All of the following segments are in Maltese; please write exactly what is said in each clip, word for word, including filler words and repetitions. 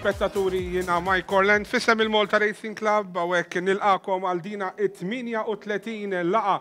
Telespettaturi, jiena Mike Orland f'isem il-Malta Racing Club, hawnhekk nilqagħkom għal dina it-tmienja u tletin laqgħa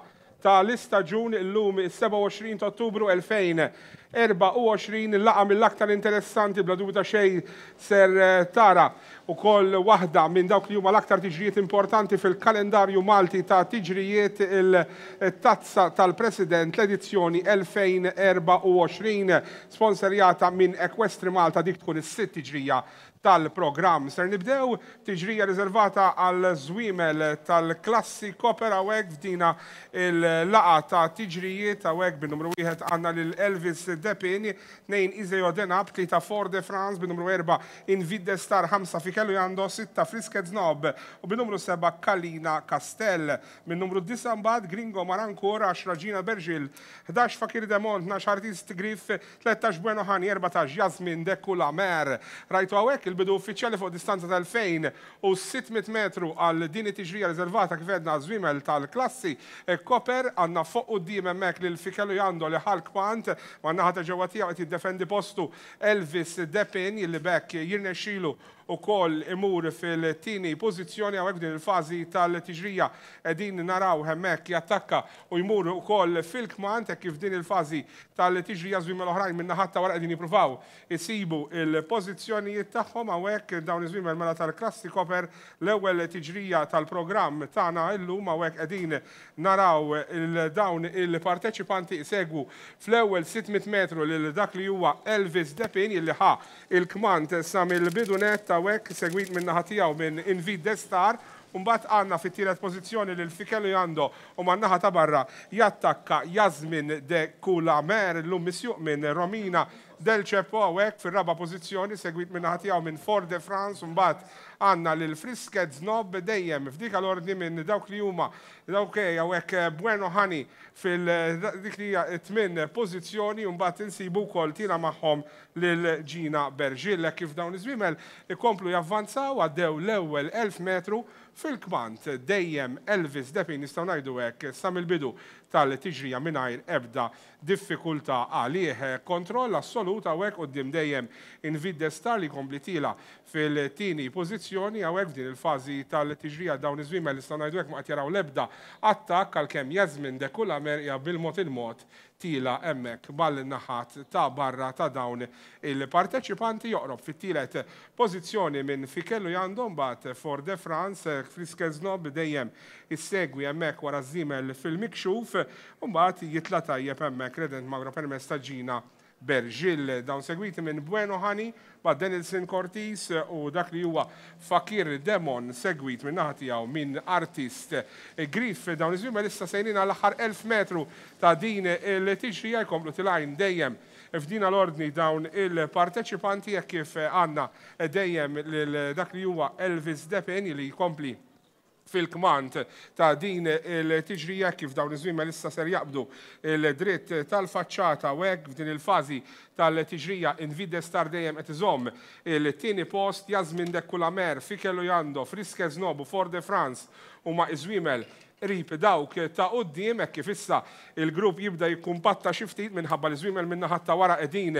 tal-istaġun, illum is-sebgħa u għoxrin ta' Ottubru elfejn erbgħa u għoxrin, laqgħa mill-aktar interessanti bla dubju ta' xejn ser tara ukoll waħda minn dawk li huma l-aktar tiġrijiet importanti fil-kalendarju Malti ta' tiġrijiet, il-Tazza tal-President, l-edizzjoni elfejn erbgħa u għoxrin, sponsorjata minn Equestri Malta. Dik tkun is-sitt tiġrija tal-programm. Ser nibdew tiġrija riservata għal żwiemel tal-klassi Copper hawnhekk f'dina il-laqgħa ta' tiġrijiet. Hawnhekk bin-numru wieħed għandna lil Elvis Depin, tnejn Iseo Denab, tlieta Fort de France, bin-numru erba' Invide Star, ħamsa Fikelu Jando, sitta Frisket Snob u bin-numru seba' Kalina Castell. Min-numru disa' mbagħad Gringo Marankur, għaxra Gina Bergil, ħdax Fakir Demont, tnax Artist Griff, tlettax Bueno Hani, erbatax Jasmin de Kulamer. Rajtu hawnhekk il-bidu uffiċjali fuq distanza ta' elfejn u sitt mitt metru għal din it-tiġrija riservata kif għedna żwiemel tal-klassi Copper. Għandna fuq quddiem hemmhekk lil Fikelu Jando li ħalk pant ma' naħa ta' ġewwa tiegħu qed jiddefendi postu Elvis Depin, li bekk jirnexxilu ukoll imur fil-tieni pożizzjoni. Hawnhekk din il-fażi tal-tiġrija qegħdin naraw hemmhekk jattakka u jmur ukoll fil-kmand, hekk kif din il-fażi tal-tiġrija żwiemel oħrajn minn naħat ta' wara qegħdin jippruvaw isibu il-pożizzjonijiet tagħhom. Hawnhekk dawn iż-żwiemel mela tal-klassi Copper, l-ewwel tiġrija tal-programm tagħna illum. Hawnhekk qegħdin naraw il-dawn il-parteċipanti isegwu fl-ewwel sitt mitt metru lil dak li huwa Elvis Depin, illi ħa il-kmand sa mill-bidu nett hawnhekk, segwit minn naħa tiegħu minn Invide Star. Mbagħad għandna fit-tielet pożizzjoni lil Fikelu Jando u man-naħa ta' barra jattakka Jasmin de Kulamer, illum misjuq minn Romina Del Ceppo hawnhekk fir-raba' pożizzjoni, segwit minn naħa tiegħu minn Fort de France. Mbagħad għandna lil Frisket Snob dejjem f'dik l-ordni minn dawk li huma dawk hawnhekk Bueno Hani fil-dik li hija t-tmien pożizzjoni, u mbagħad insibu wkoll tira magħhom lil Gina Bergil. Kif dawn iż-żwiemel ikomplu javvanzaw, għaddew l-ewwel elf metru fil-kmand dejjem Elvis Depin, nistgħu ngħidu hekk sa mill-bidu tal-tiġrija mingħajr ebda diffikultà għalih. Kontroll assolut hawnhekk quddiem dejjem Invide Star li jkompli tila fil-tieni pożizzjoni. Hawnhekk f'din il-fażi tal-tiġrija dawn iż-żwiemel nistgħu ngħidu hekk ma qed jaraw l-ebda attakk, għalkemm Jasmin de Kulamer hija bil-mod il-mod tila hemmhekk mal-naħat ta' barra ta' dawn il-parteċipanti. Joqrob fit-tielet pożizzjoni minn Fikelu Jando, mbagħad Fort de France, Frisket Snob dejjem issegwi hemmhekk wara żiemel fil-mikxuf, u mbagħad jitla' tajjeb hemmhekk Redent Magro permezz ta' Gina Bergil. Dawn segwiti minn Bueno Hani, ma' Denilson Cortis u dak li huwa Fakir Demon, segwit minn naħa tiegħu minn Artist Griff. Dawn iż-żwiemel issa sejrin għal aħħar elf metru ta' din il-tiġrija, jkomplu tilgħin dejjem f'dina l-ordni dawn il-parteċipanti, hekk kif għandna dejjem lil dak li huwa Elvis Depin li jkompli fil-kmand ta' din il-tiġrija, kif dawn iż-żwiemel issa ser jaqbdu il-dritt tal-faċċata. U hekk f'din il-fażi tal-tiġrija Invide Star dejjem qed iżomm il-tieni post, Jasmin de Kulamer, Fikelu Jando, Frisket Snob u Fort de France huma iż-żwiemel qrib dawk ta' quddiem, hekk kif issa il-grupp jibda jikkumpatta xi ftit minħabba li żwiemel minn naħa ta' wara qegħdin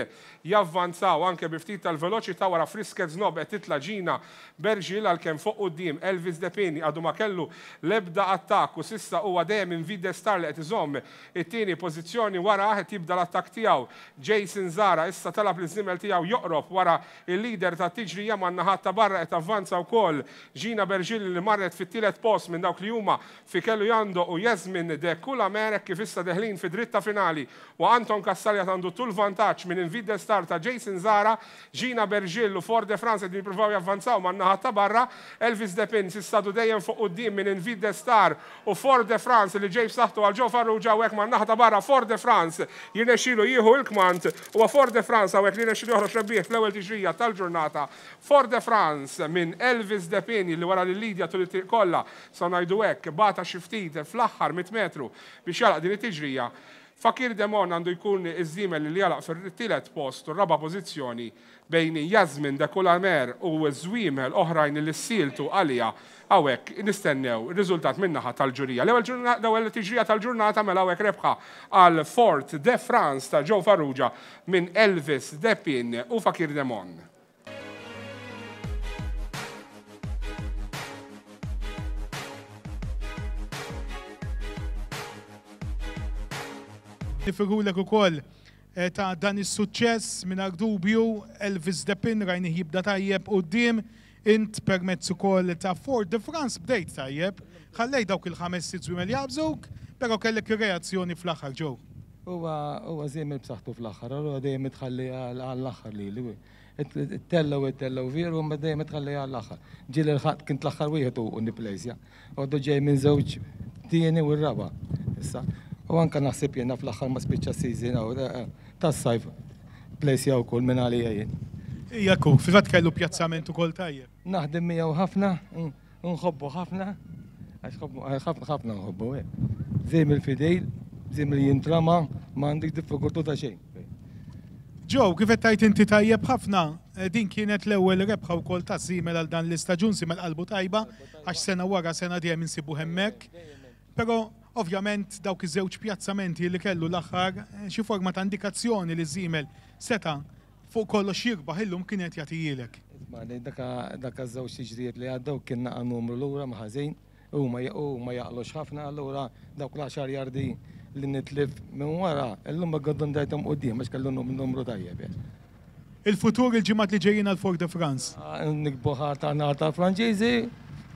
javvanzaw anke bi ftit tal-veloċità. Wara Frisket Snob qed titla' Gina Bergil, għalkemm fuq quddiem Elvis Depin għadu ma kellu l-ebda attakk u s'issa huwa dejjem Invide Star li qed iżomm it-tieni pożizzjoni. Wara qed jibda l-attakk tiegħu Jason Zara, issa talab li żiemel tiegħu joqrob wara il-leader tat-tiġrija. Man-naħat ta' barra qed avvanza wkoll Gina Bergil li marret fit-tielet post minn dawk li huma Fikelu Jando u Jasmin de Kulamer, kif issa deħlin fi dritta finali u Anton Kassalja għandu tul vantaġġ minn Invide Star ta' Jason Zara. Gina Bergil u Fort de France qegħdin jippruvaw javvanzaw man-naħa ta' barra. Elvis Depin s'issa għadu dejjem fuq quddiem minn Invide Star u Fort de France li ġej b'saħħtu għal Joe Farrugia. Hawnhekk man-naħa ta' barra Fort de France jirnexxielu jieħu il-kmand, u Fort de France hawnhekk li jirnexxielu joħroġ rebbieħ fl-ewwel tiġrija tal-ġurnata. Fort de France minn Elvis Depin li wara li Lidia tul it-triq kollha, sa ngħidu hekk, bata xi ftit fl-aħħar mitt metru biex jalaq din it-tiġrija. Fakir Demon għandu jkun iż-żiemel li jalaq fir-tielet post u raba' pożizzjoni bejn Jasmin de Kulamer u żwiemel oħrajn li ssiltu għalija. Hawnhekk nistennew ir-riżultat min-naħa tal-ġurija. L-ewwel ġurna-, l-ewwel tiġrija tal-ġurnata mela hawnhekk rebħa għal Fort de France ta' Joe Farrugia minn Elvis Depin u Fakir Demon. Nifirħulek ukoll ta' dan is-suċċess mingħajr dubju. Elvis Depin rajnih jibda tajjeb quddiem, int permezz ukoll ta' Fort de France bdejt tajjeb, ħallej dawk il-ħames sitt żwiemel jaqbżuk, però kellek ir-reazzjoni fl-aħħar ġew. Huwa huwa żiemel b'saħħtu fl-aħħar, allura dejjem itħalli għall-aħħar lili. Tellgħu tellgħu veru, ma dejjem itħalli għall-aħħar. Ġieli l-ħadd kint l-aħħar wieħed u nipplejsja. Għoddu ġej minn żewġ tieni u r-raba'. Issa, u anke naħseb jiena fl-aħħar ma spiċċa season tas-sajf plejsja wkoll minn għalija jien. Ija ku, fil-fatt kellu pjazzament ukoll tajjeb. Naħdem miegħu ħafna, nħobbu ħafna, għax ħafna ħafna nħobbu. Żiemel fidejl, żiemel jintrama, ma għandek diffikultà ta' xejn. Joe, kif qed tgħid inti tajjeb ħafna, din kienet l-ewwel rebħa wkoll ta' żiemel għal dan l-istaġun, żiemel qalbu tajba, għax sena wara sena dejjem insibu hemmhekk. Però ovvjament dawk iż-żewġ pjazzamenti li kellu l-aħħar, xi forma ta' indikazzjoni li żiemel seta' fuq kollox jirbaħ illum kienet jagħtijielek. Dak iż-żewġ tiġrijiet li għaddew kien naqa' numru lura ma' ħażin, huma ma jaqlux ħafna, allura dawk l-għaxar jardi li nitlif minn wara, illum ma għaddun dajthom quddiem għax kellu numru tajjeb. Il-futur il-ġimgħat li ġejjin għal Fort de France. Nikbu ħar nar tal-Franċiżi,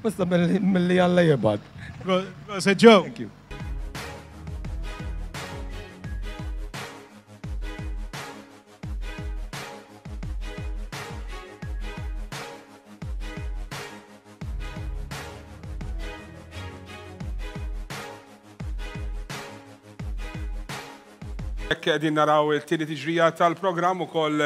basta milli Alla jibgħat. Proset Joe. Thank you. Qegħdin naraw il-tieni tiġrija tal-programm ukoll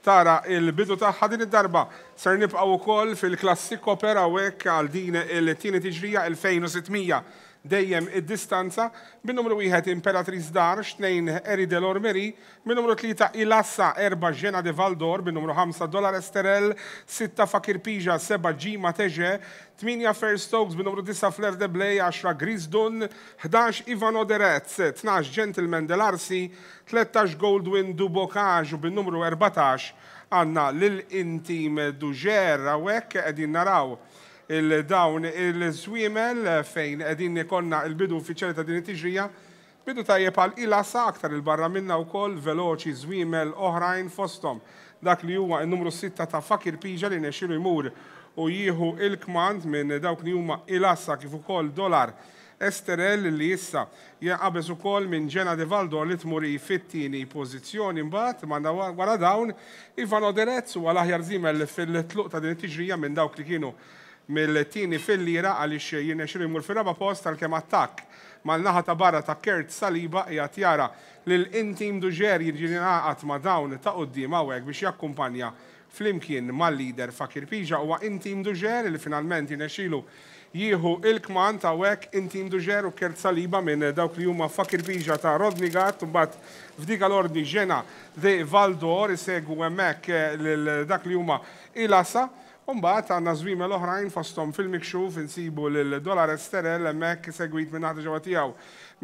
tara il-bidu tagħha din id-darba. Ser nibqgħu wkoll fil-klassi Copper hawnhekk għal din il-tieni tiġrija elfejn u sitt mija dejjem id-distanza, bin-numru wieħed Imperatriz Darx, tnejn Eri Delormeri, bin-numru tlieta Ilassa, erba' Ġena de Valdor, bin-numru ħamsa Dollar Esterel, sitta Fakir Pija, seba' Ġima Teġe, tmienja Fair Stokes, bin-numru disa' Flair de Blay, għaxra Gris Dun, ħdax Ivano Derez, tnax Gentleman Delarsi, tlettax Goldwyn du Bocage u bin-numru erbatax għandna lil Intim Duġer. Hawnhekk qegħdin naraw il-dawn il-żwiemel fejn qegħdin ikollna il-bidu uffiċjali ta' din it-tiġrija. Bidu tajjeb għal Ilasa, aktar il-barra minna wkoll veloċi żwiemel oħrajn, fosthom dak li huwa n-numru sitta ta' Fakir Pija li nexxielu jmur u jieħu il-kmand minn dawk li huma Ilasa kif ukoll Dollar Esterel li issa jaqbeż ukoll minn Ġena de Valdor li tmur fit-tieni pożizzjoni. Imbagħad wara dawn Ivano Derez huwa l-aħjar żiemel fil-tluq ta' din it-tiġrija minn dawk li kienu mill-tieni fil-lira, għaliex jirnexxielu jmur fir-raba' post, għalkemm attakk mal-naħa ta' barra ta' Kurt Saliba qiegħed jara lil Intim Duġer jiġi jingħaqad ma' dawn ta' quddiem hawnhekk biex jakkumpanja flimkien mal-leader Fakir Pija. Huwa Intim Duġer li finalment jirnexxielu jieħu il-kmand hawnhekk, Intim Duġer u Kurt Saliba minn dawk li huma Fakir Pija ta' Rodney Gatt, mbagħad f'dik l-ordni Ġena de Valdor isegwu hemmhekk lil dak li huma Ilasa. Umbagħad għandna żwiemel oħrajn, fosthom fil-mikxuf insibu lil Dollar Esterel hemmhekk segwit minn naħa ġewwa tiegħu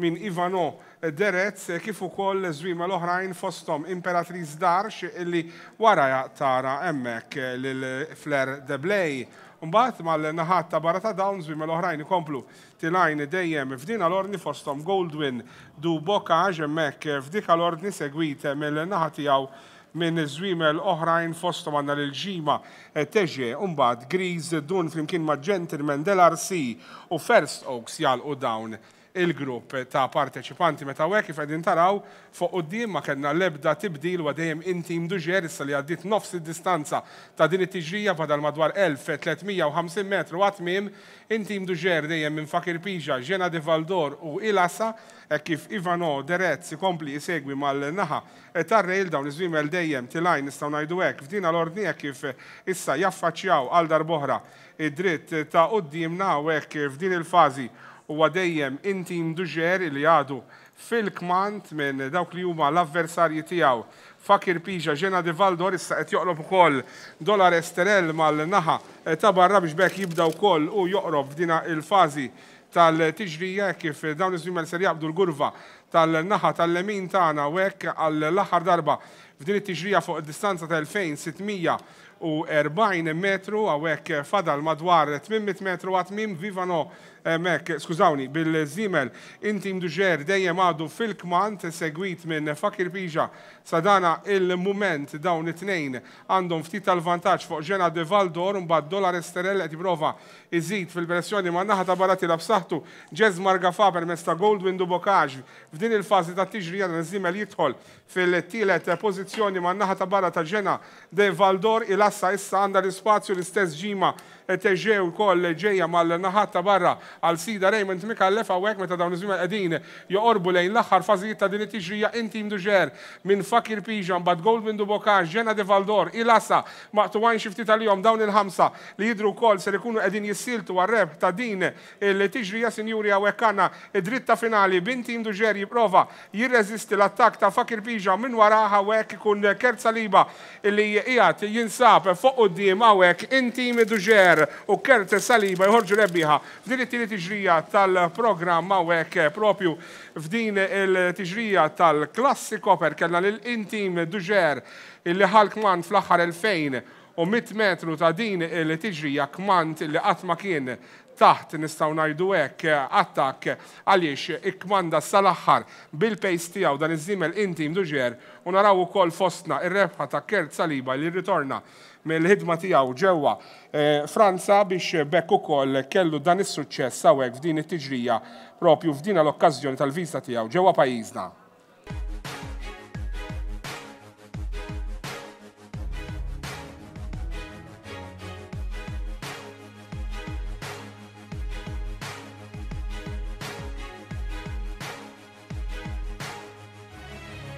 minn Ivano Derez, kif ukoll żwiemel oħrajn, fosthom Imperatriz Darx illi wara tara hemmhekk lil Flair de Blay. Mbagħad mal-naħat ta' barra ta' dawn żwiemel oħrajn ikomplu tilajn dejjem f'din l-ordni, fosthom Goldwyn du Bocage hemmhekk f'dik l-ordni segwit mill-naħa tiegħu minn żwiemel oħrajn, fosthom għandna lil Ġima Teġe, mbagħad Gris Dun flimkien ma' Gentleman Del R C u First Oaks jalqu dawn il-grupp ta' parteċipanti. Meta hekk kif qegħdin taraw fuq quddiem ma kellna l-ebda tibdil, wa dejjem Intim Duġer issa li għaddiet nofs id-distanza ta' din it-tiġrija, fadal madwar elf u tliet mija u ħamsin metru għat-tmiem. Intim Duġer dejjem minn Fakir Pija, Ġena de Valdor u Ilasa, hekk kif Ivano Derez ikompli jisegwi mal-naħa tar-rail. Dawn iż-żwiemel dejjem tilajn, nistgħu ngħidu hekk, f'din l-ordni hekk kif issa jaffaċċjaw għal darb'oħra id-dritt ta' quddiemna. Hekk f'din il-fażi huwa dejjem Intim Duġer li għadu fil-kmand minn dawk li huma l-avversarji tiegħu Fakir Pija, Ġena de Valdor, issa qed joqrob ukoll Dollar Esterel mal-naħa ta' barra biex bekk jibda wkoll u joqrob f'dina il-fażi tal-tiġrija, kif dawn iż-żwiemel ser jaqbdu l-gurva tal-naħa tal-lemin tagħna u hekk għall-aħħar darba f'din it-tiġrija fuq distanza ta' elfejn u sitt mija u erbgħin metru, hawnhekk fadal madwar tmien mitt metru għat-tmiem. Vivano hemmhekk, skużawni, bil-żiemel Intim Duġer dejjem għadu fil-kmand, segwit minn Fakir Pija. Sadana il-mument dawn it-tnejn għandhom ftit tal-vantaġġ fuq Ġena de Valdor, mbagħad Dollar Esterel qed jipprova iżid fil-pressjoni ma' naħa ta' barra tilab b'saħħtu Ġeżmar Gafa permezz ta' Goldwyn Dubokage. F'din il-fażi ta' tiġrija dan iż-żiemel jidħol fil-tielet pożizzjoni ma' naħa ta' barra ta' Ġena de Valdor. Il-assa issa għandha l-ispazju, l-istess ġima Teġew ukoll ġejja mal-naħat ta' barra għal sida Raymond Mikallef. Hawnhekk meta dawn iż-żwiemel qegħdin joqorbu lejn l-aħħar fażijiet ta' din it-tiġrija, Intim Duġer minn Fakir Pija, mbagħad Goldwyn Dubokage, Ġena de Valdor, il-assa maqtuwajn xi ftit għalihom. Dawn il-ħamsa li jidhru wkoll ser ikunu qegħdin jissiltu għar-rebħ ta' din il-tiġrija. Sinjuri, hawnhekk għandna id-dritta finali b'Intim Duġer jipprova jirreżisti l-attakk ta' Fakir Pija minn wara. Hawnhekk ikun Kert Saliba li qiegħed jinsab fuq quddiem. Hawnhekk Intim Duġer u Kert Saliba jħorġu rebbieħa f'din it-tieni tiġrija tal-programm. Hawnhekk propju f'din il-tiġrija tal-Klassi Copper kellna lil Intim Duġer illi ħal kmand fl-aħħar elfejn u mitt metru ta' din il-tiġrija, kmand li qatt ma kien taħt, nistgħu ngħidu hekk, attakk, għaliex ikkmanda sal-aħħar bil-pace tiegħu dan iż-żiemel Intim Duġer. U naraw ukoll fostna ir-rebħa ta' Kert Saliba li rritorna mill-ħidma tiegħu ġewwa Franza biex bekk ukoll kellu dan is-suċċess hawnhekk f'din it-tiġrija propju f'din l-okkażjoni tal-viża tiegħu ġewwa pajjiżna.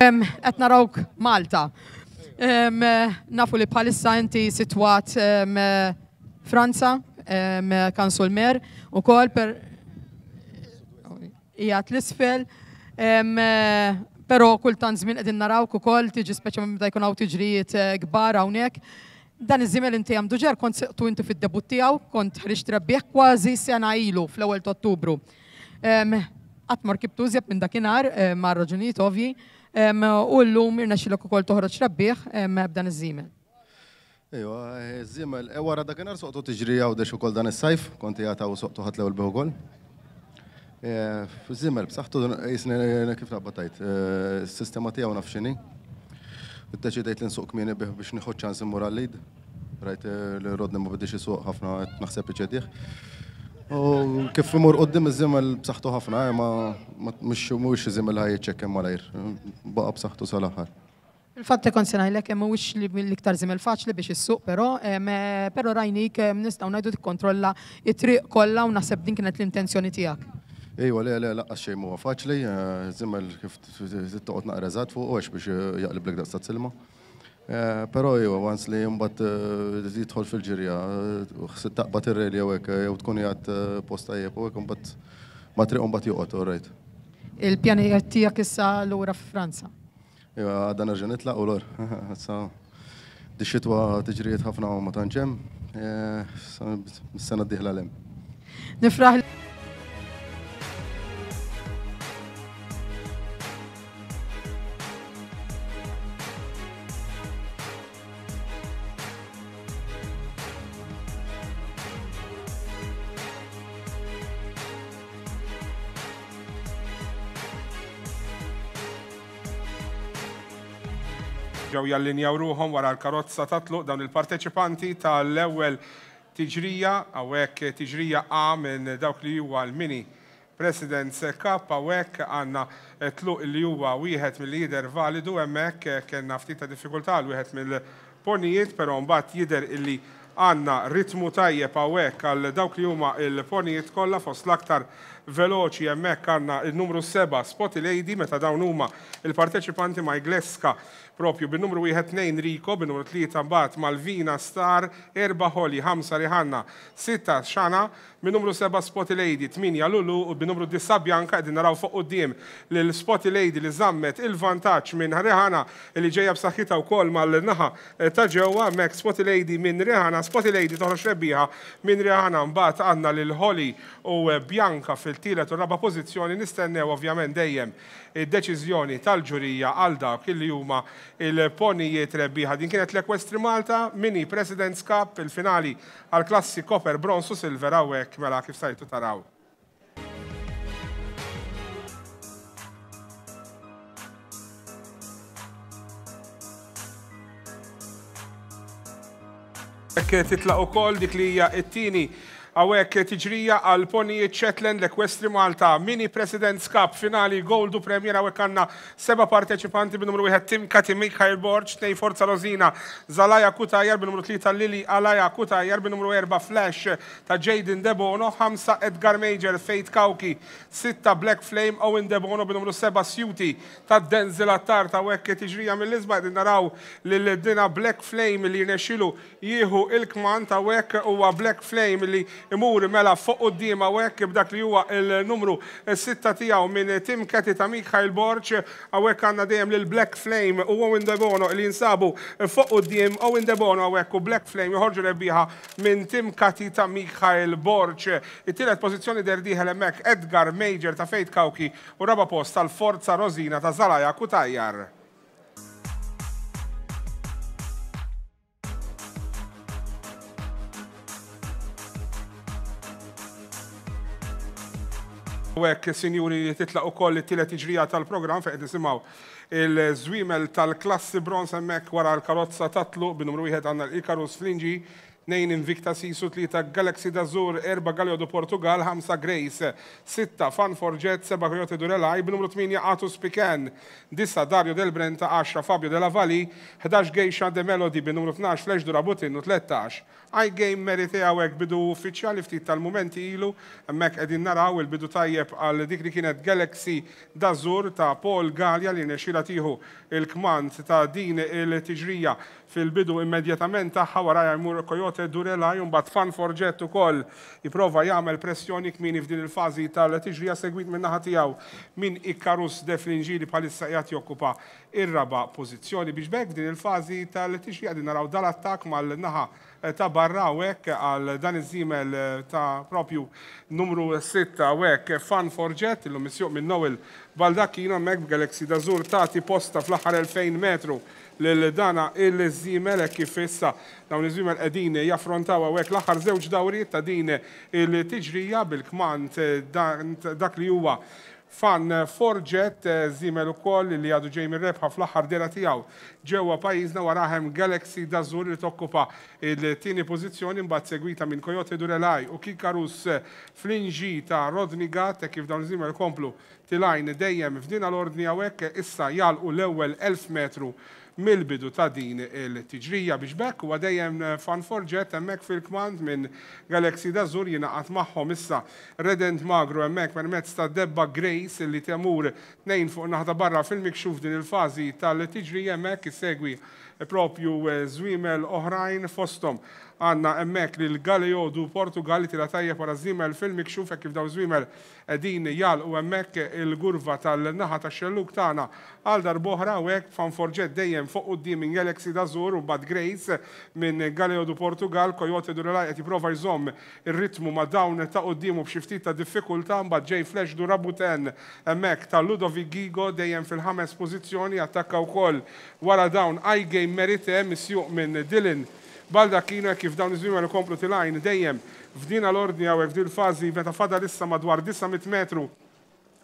Qed narawk Malta. Nafu li bħalissa inti sitwat Franza, Kansulmer, u kol per qiegħed l-isfel, però kultant żmien qegħdin narawk ukoll tiġi speċjalment meta jkun hawn tiġrijiet kbar hawnhekk. Dan iż-żiemel Intim Duġer kont seqtu inti fid-debut tiegħu, kont ħriġt rebbieħ kważi sena ilu fl-ewwel ta' Ottubru. Qatt ma rkibtu iżjed minn dakinhar ma' raġunijiet ovvji. U llum irnexxilek ukoll toħroġ rebbieħ b'dan iż-żiemel. Ejwa, iż-żiemel wara dakinhar soqtu tiġri Għawdex ukoll dan is-sajf, kont qiegħed hawn soqtu ħadd l-ewwel bih ukoll. Iż-żiemel b'saħħtu jisni kif naqbad tgħid, is-sistema tiegħu naf x'inhi. Iddeċidejt li nsuq kmieni bih biex nieħu ċans immur għal-lead. Rajt li Rodney ma bidix isuq ħafna qed naħseb iċedih. U kif imur quddiem iż-żiemel b'saħħtu ħafna, ma mhux mhuwiex iż-żiemel ħaj jiċċekken malajr, baqa' b'saħħtu sal-aħħar. Fil-fatt kont se ngħidlek hemm mhuwiex l-iktar żiemel faċli biex issuq, però però rajnik nistgħu ngħidu tikkontrolla t-triq kollha u naħseb din kienet l-intenzjoni tiegħek. Ejwa, le le laqqas xejn huwa faċli, żiemel kif toqgħod naqra eżatt fuq għax biex jaqliblek daqs silma. Però ejwa, once li mbagħad jidħol fil-ġirja, taqbad ir-rejl jew hekk jew tkun qiegħed post tajjeb u hekk imbagħad ma triq mbagħad joqgħod, all right. Il-pjanijiet tiegħek issa lura f'Franza? Ejwa, għadha nerġa' nitlaq u lur. Issa di xitwa tiġrijiet ħafna u ma tantx hemm, is-sena d-dieħla l hemm. Nifraħ Ġew jallinjaw ruħhom wara l-karozza ta' tluq dawn il-parteċipanti tal-ewwel tiġrija, hawnhekk tiġrija A minn dawk li huwa l-Mini President's Cup. Hawnhekk għandna tluq li huwa wieħed mill-lider validu, hemmhekk kellna ftit ta' diffikultà għal wieħed mill-ponijiet, però mbagħad jidher illi għandna ritmu tajjeb hawnhekk għal dawk li huma l-ponijiet kollha. Fost l-aktar veloċi hemmhekk għandna il-numru seba' Spotty Lady, meta dawn huma il-parteċipanti ma' Igleska propju bin-numru wieħed tnejn Rico, bin-numru tlieta mbagħad Malvina Star, erba' Holly, ħamsa Rihanna, sitta Xana, bin-numru seba' Spotty Lady, tminja Lulu u bin-numru disa' Bianca. Qegħdin naraw fuq quddiem lil Spotty Lady li żammet il-vantaġġ minn Rihanna li ġejja b'saħħitha wkoll mal-naħa ta' ġewwa. Hemmhekk Spotty Lady minn Rihanna, Spotty Lady toħroġ rebbieħa minn Rihanna, mbagħad għandna lil Holly u Bianca fil fil-tielet u raba' pożizzjoni. Nistennew ovvjament dejjem id-deċiżjoni tal-ġurija għal dawk illi huma il-ponijiet rebbieħa. Din kienet l-Equestri Malta Mini President's Cup, il-finali għal klassi Copper, Bronze u Silver hawnhekk mela kif sajtu taraw. Hekk titlaq ukoll dik li hija t-tieni hawnhekk tiġrija għal ponijiet Shetland l-Equestri Malta Mini President's Cup finali Gold u Premier. Hawnhekk għandna seba' parteċipanti bin-numru wieħed Tim Kati Mikhail Borg, tnejn Forza Rosina Zalaja Kutajar, bin-numru tlieta Lili Alaja Kutajar, bin-numru erba' Flash ta' Jaden Debono, ħamsa Edgar Major Faith Kauki, sitta Black Flame Owen Debono, bin-numru seba' Suti ta' Denzel Attard. Hawnhekk tiġrija mill-isbaħ qegħdin naraw lil dina Black Flame li rnexxielu jieħu il-kmand. Hawnhekk huwa Black Flame li imur mela fuq quddiem hawnhekk b'dak li huwa il-numru sitta tiegħu minn Tim Kati ta' Mikhail Borg. Hawnhekk għandna dejjem lil Black Flame u Owen Debono li jinsabu fuq quddiem. Owen Debono hawnhekk u Black Flame joħorġu rebbieħa minn Tim Kati ta' Mikhail Borg. It-tielet pożizzjoni derdieħel hemmhekk Edgar Major ta' Faith Kauki u raba' post tal-Forza Rosina ta' Zalaja Kutajar. U hekk, sinjuri, titlaq ukoll it-tielet tiġrija tal-programm fejn qed nisimgħu il-żwiemel tal-klassi bronz hemmhekk wara l-karozza tatluq. Bin-numru wieħed għandna l-Icarus Flingi, tnejn Invicta Sisu, tlieta Galaxy d'Azur, erba' Galio du Portugal, ħamsa Grace, sitta Fan Forget, seba' Coyote Durelaj, bin-numru tmienja Atus Pican, disa' Dario Del Brenta, għaxra Fabio Della Valli, ħdax Geisha De Melody, bin-numru tnax Flash Durabutin u tlettax I-Game Merite. Hawnhekk bidu uffiċjali ftit tal-mumenti ilu, hemmhekk qegħdin naraw il-bidu tajjeb għal dik li kienet Galaxy d'Azur ta' Paul Gallia li nexxielha tieħu il-kmand ta' din il-tiġrija fil-bidu immedjatament tagħha. Warajha jmur Coyote Durelaj u mbagħad Fan Forget ukoll jipprova jagħmel pressjoni kmieni f'din il-fażi tal-tiġrija, segwit min-naħa tiegħu minn Icarus De Flingi li bħalissa qiegħed jokkupa ir-raba' pożizzjoni. Biex b'hekk f'din il-fażi tal-tiġrija qegħdin naraw dal-attakk mal-naħa ta' barra hawnhekk għal dan iż-żiemel ta' propju numru sitta hawnhekk Fan Forget illum misjuq minn Noel Baldacchino. Hemmhekk b'Galaxy d'Azur tagħti posta fl-aħħar elfejn metru lil dana il-żiemel hekk kif issa dawn iż-żwiemel qegħdin jaffrontaw hawnhekk l-aħħar żewġ dawriet ta' din il-tiġrija bil-kmand dak li huwa Fan Forget, żiemel ukoll li għadu ġej mir-rebħa fl-aħħar dera tiegħu ġewwa pajjiżna. Warahem Galaxy d'Azur li tokkupa il-tieni pożizzjoni, mbagħad segwita minn Coyote Durelaj u Kikarus Flingi ta' Rodney Gatt. Kif dawn iż-żiemel komplu tilajn dejjem f'din l-ordni hawnhekk issa jagħlqu l-ewwel elf metru mill-bidu ta' din il-tiġrija. Biex b'hekk huwa dejjem Fan Forget hemmhekk fil-kmand minn Galaxy d'Azur, jingħaqad magħhom issa Redent Magro hemmhekk permezz ta' Debba Grace li temur tnejn fuq naħa ta' barra fil-mikxuf din il-fażi tal-tiġrija. Hemmhekk isegwi propju żwiemel oħrajn, fosthom għandna hemmhekk lil Galio du Portugal li tila tajjeb wara żiemel fil-mikxuf hekk kif dawn żwiemel qegħdin jagħlqu hemmhekk il-gurva tal-naħa tax-xellug tagħna għal darb'oħra. Hawnhekk Fan Forget dejjem fuq quddiem minn Galaxy d'Azur u mbagħad Grace minn Galio du Portugal. Coyote Durelaj qed jipprova jżomm ir-ritmu ma' dawn ta' quddiemu b'xi ftit ta' diffikultà. Mbagħad ġej Flash du Rabuten hemmhekk ta' Ludovic Gigo dejjem fil-ħames pożizzjoni, attakka wkoll wara dawn I-Game Merite misjuq minn Dylan Baldacchino. Kif dawn iż-żwiemel ikomplu tilajn dejjem f'din l-ordni hawnhekk f'din il-fażi meta fadal issa madwar disa' mitt metru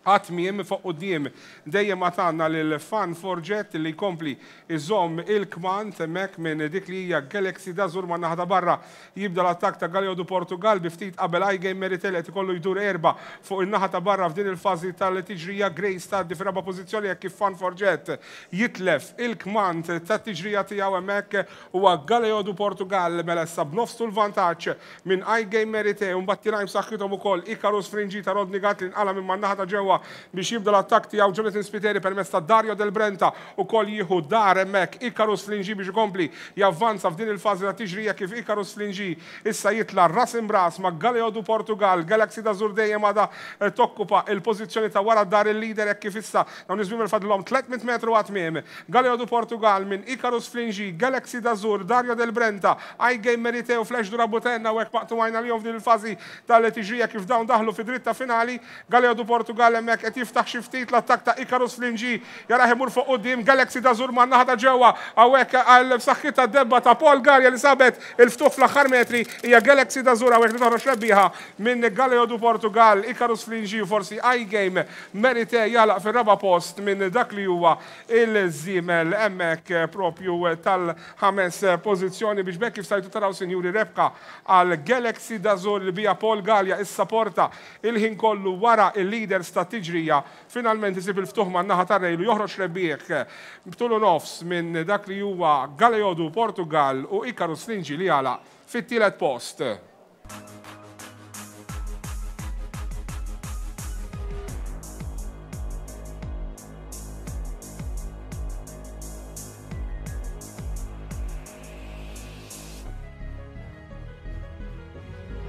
għat-tmiem fuq quddiem dejjem għatanna lil Fan Forget li jkompli iżomm il-kmand hemmhekk minn dik li hija Galaxy d'Azur. Ma' naħa ta' barra jibda l-attakk ta' Galio du Portugal bi ftit qabel I-Game Merite qed ikollu jdur erba' fuq in-naħa ta' barra f'din il-fażi tal-tiġrija. Grace tgħaddi fir-raba' pożizzjoni hekk kif Fan Forget jitlef il-kmand tat-tiġrija tiegħu hemmhekk huwa Galio du Portugal mela issa b'nofsu l-vantaġġ minn I-Game Merite u mbagħad tilgħin b'saħħithom ukoll Icarus Fringi ta' Rodney Gatt li nqala minn man-naħa ta' ġewwa ġewwa biex jibda l-attakk tiegħu Jonathan Spiteri permezz ta' Dario Del Brenta ukoll jieħu dar hemmhekk Icarus Flingi biex ikompli javvanza f'din il-fażi ta' tiġrija kif Icarus Flingi issa jitla' ras imbras ma' Galeo du Portugal. Galaxy d'Azur dejjem għadha tokkupa il-pożizzjoni ta' wara dar il-leader hekk kif issa dawn iż-żwiemel fadlhom tliet mitt metru għat-tmiem. Galeo du Portugal minn Icarus Flingi, Galaxy d'Azur, Dario Del Brenta, I Game Merite u Flash Durabutenna u hekk maqtugħajna lihom f'din il-fażi tal-tiġrija kif dawn daħlu fi dritta finali. Galeo du Portugal hemmhekk qed jiftaħ xi ftit l-attakk ta' Icarus Flingi, jarah imur fuq quddiem. Galaxy d'Azur man-naħa ta' ġewwa hawnhekk għal b'saħħitha debba ta' Paul Galea li sabet il-ftuħ fl-aħħar metri hija Galaxy d'Azur hawnhekk li toħroġ rebbieħa minn Galeo du Portugal. Icarus Flingi forsi I Game Merite jalaq fir-raba' post minn dak li huwa il-żiemel hemmhekk propju tal-ħames pożizzjoni biex bekk kif stajtu taraw sinjuri rebħa għal Galaxy d'Azur li bija Paul Galea issa porta il-ħin kollu wara il-leaders ta' tiġrija finalment isib il-ftuħ man-naħa tar-rejlu joħroġ rebbieħ b'tulu nofs minn dak li huwa Galeo du Portugal u Icarus Flingi li għalaq fit-tielet post.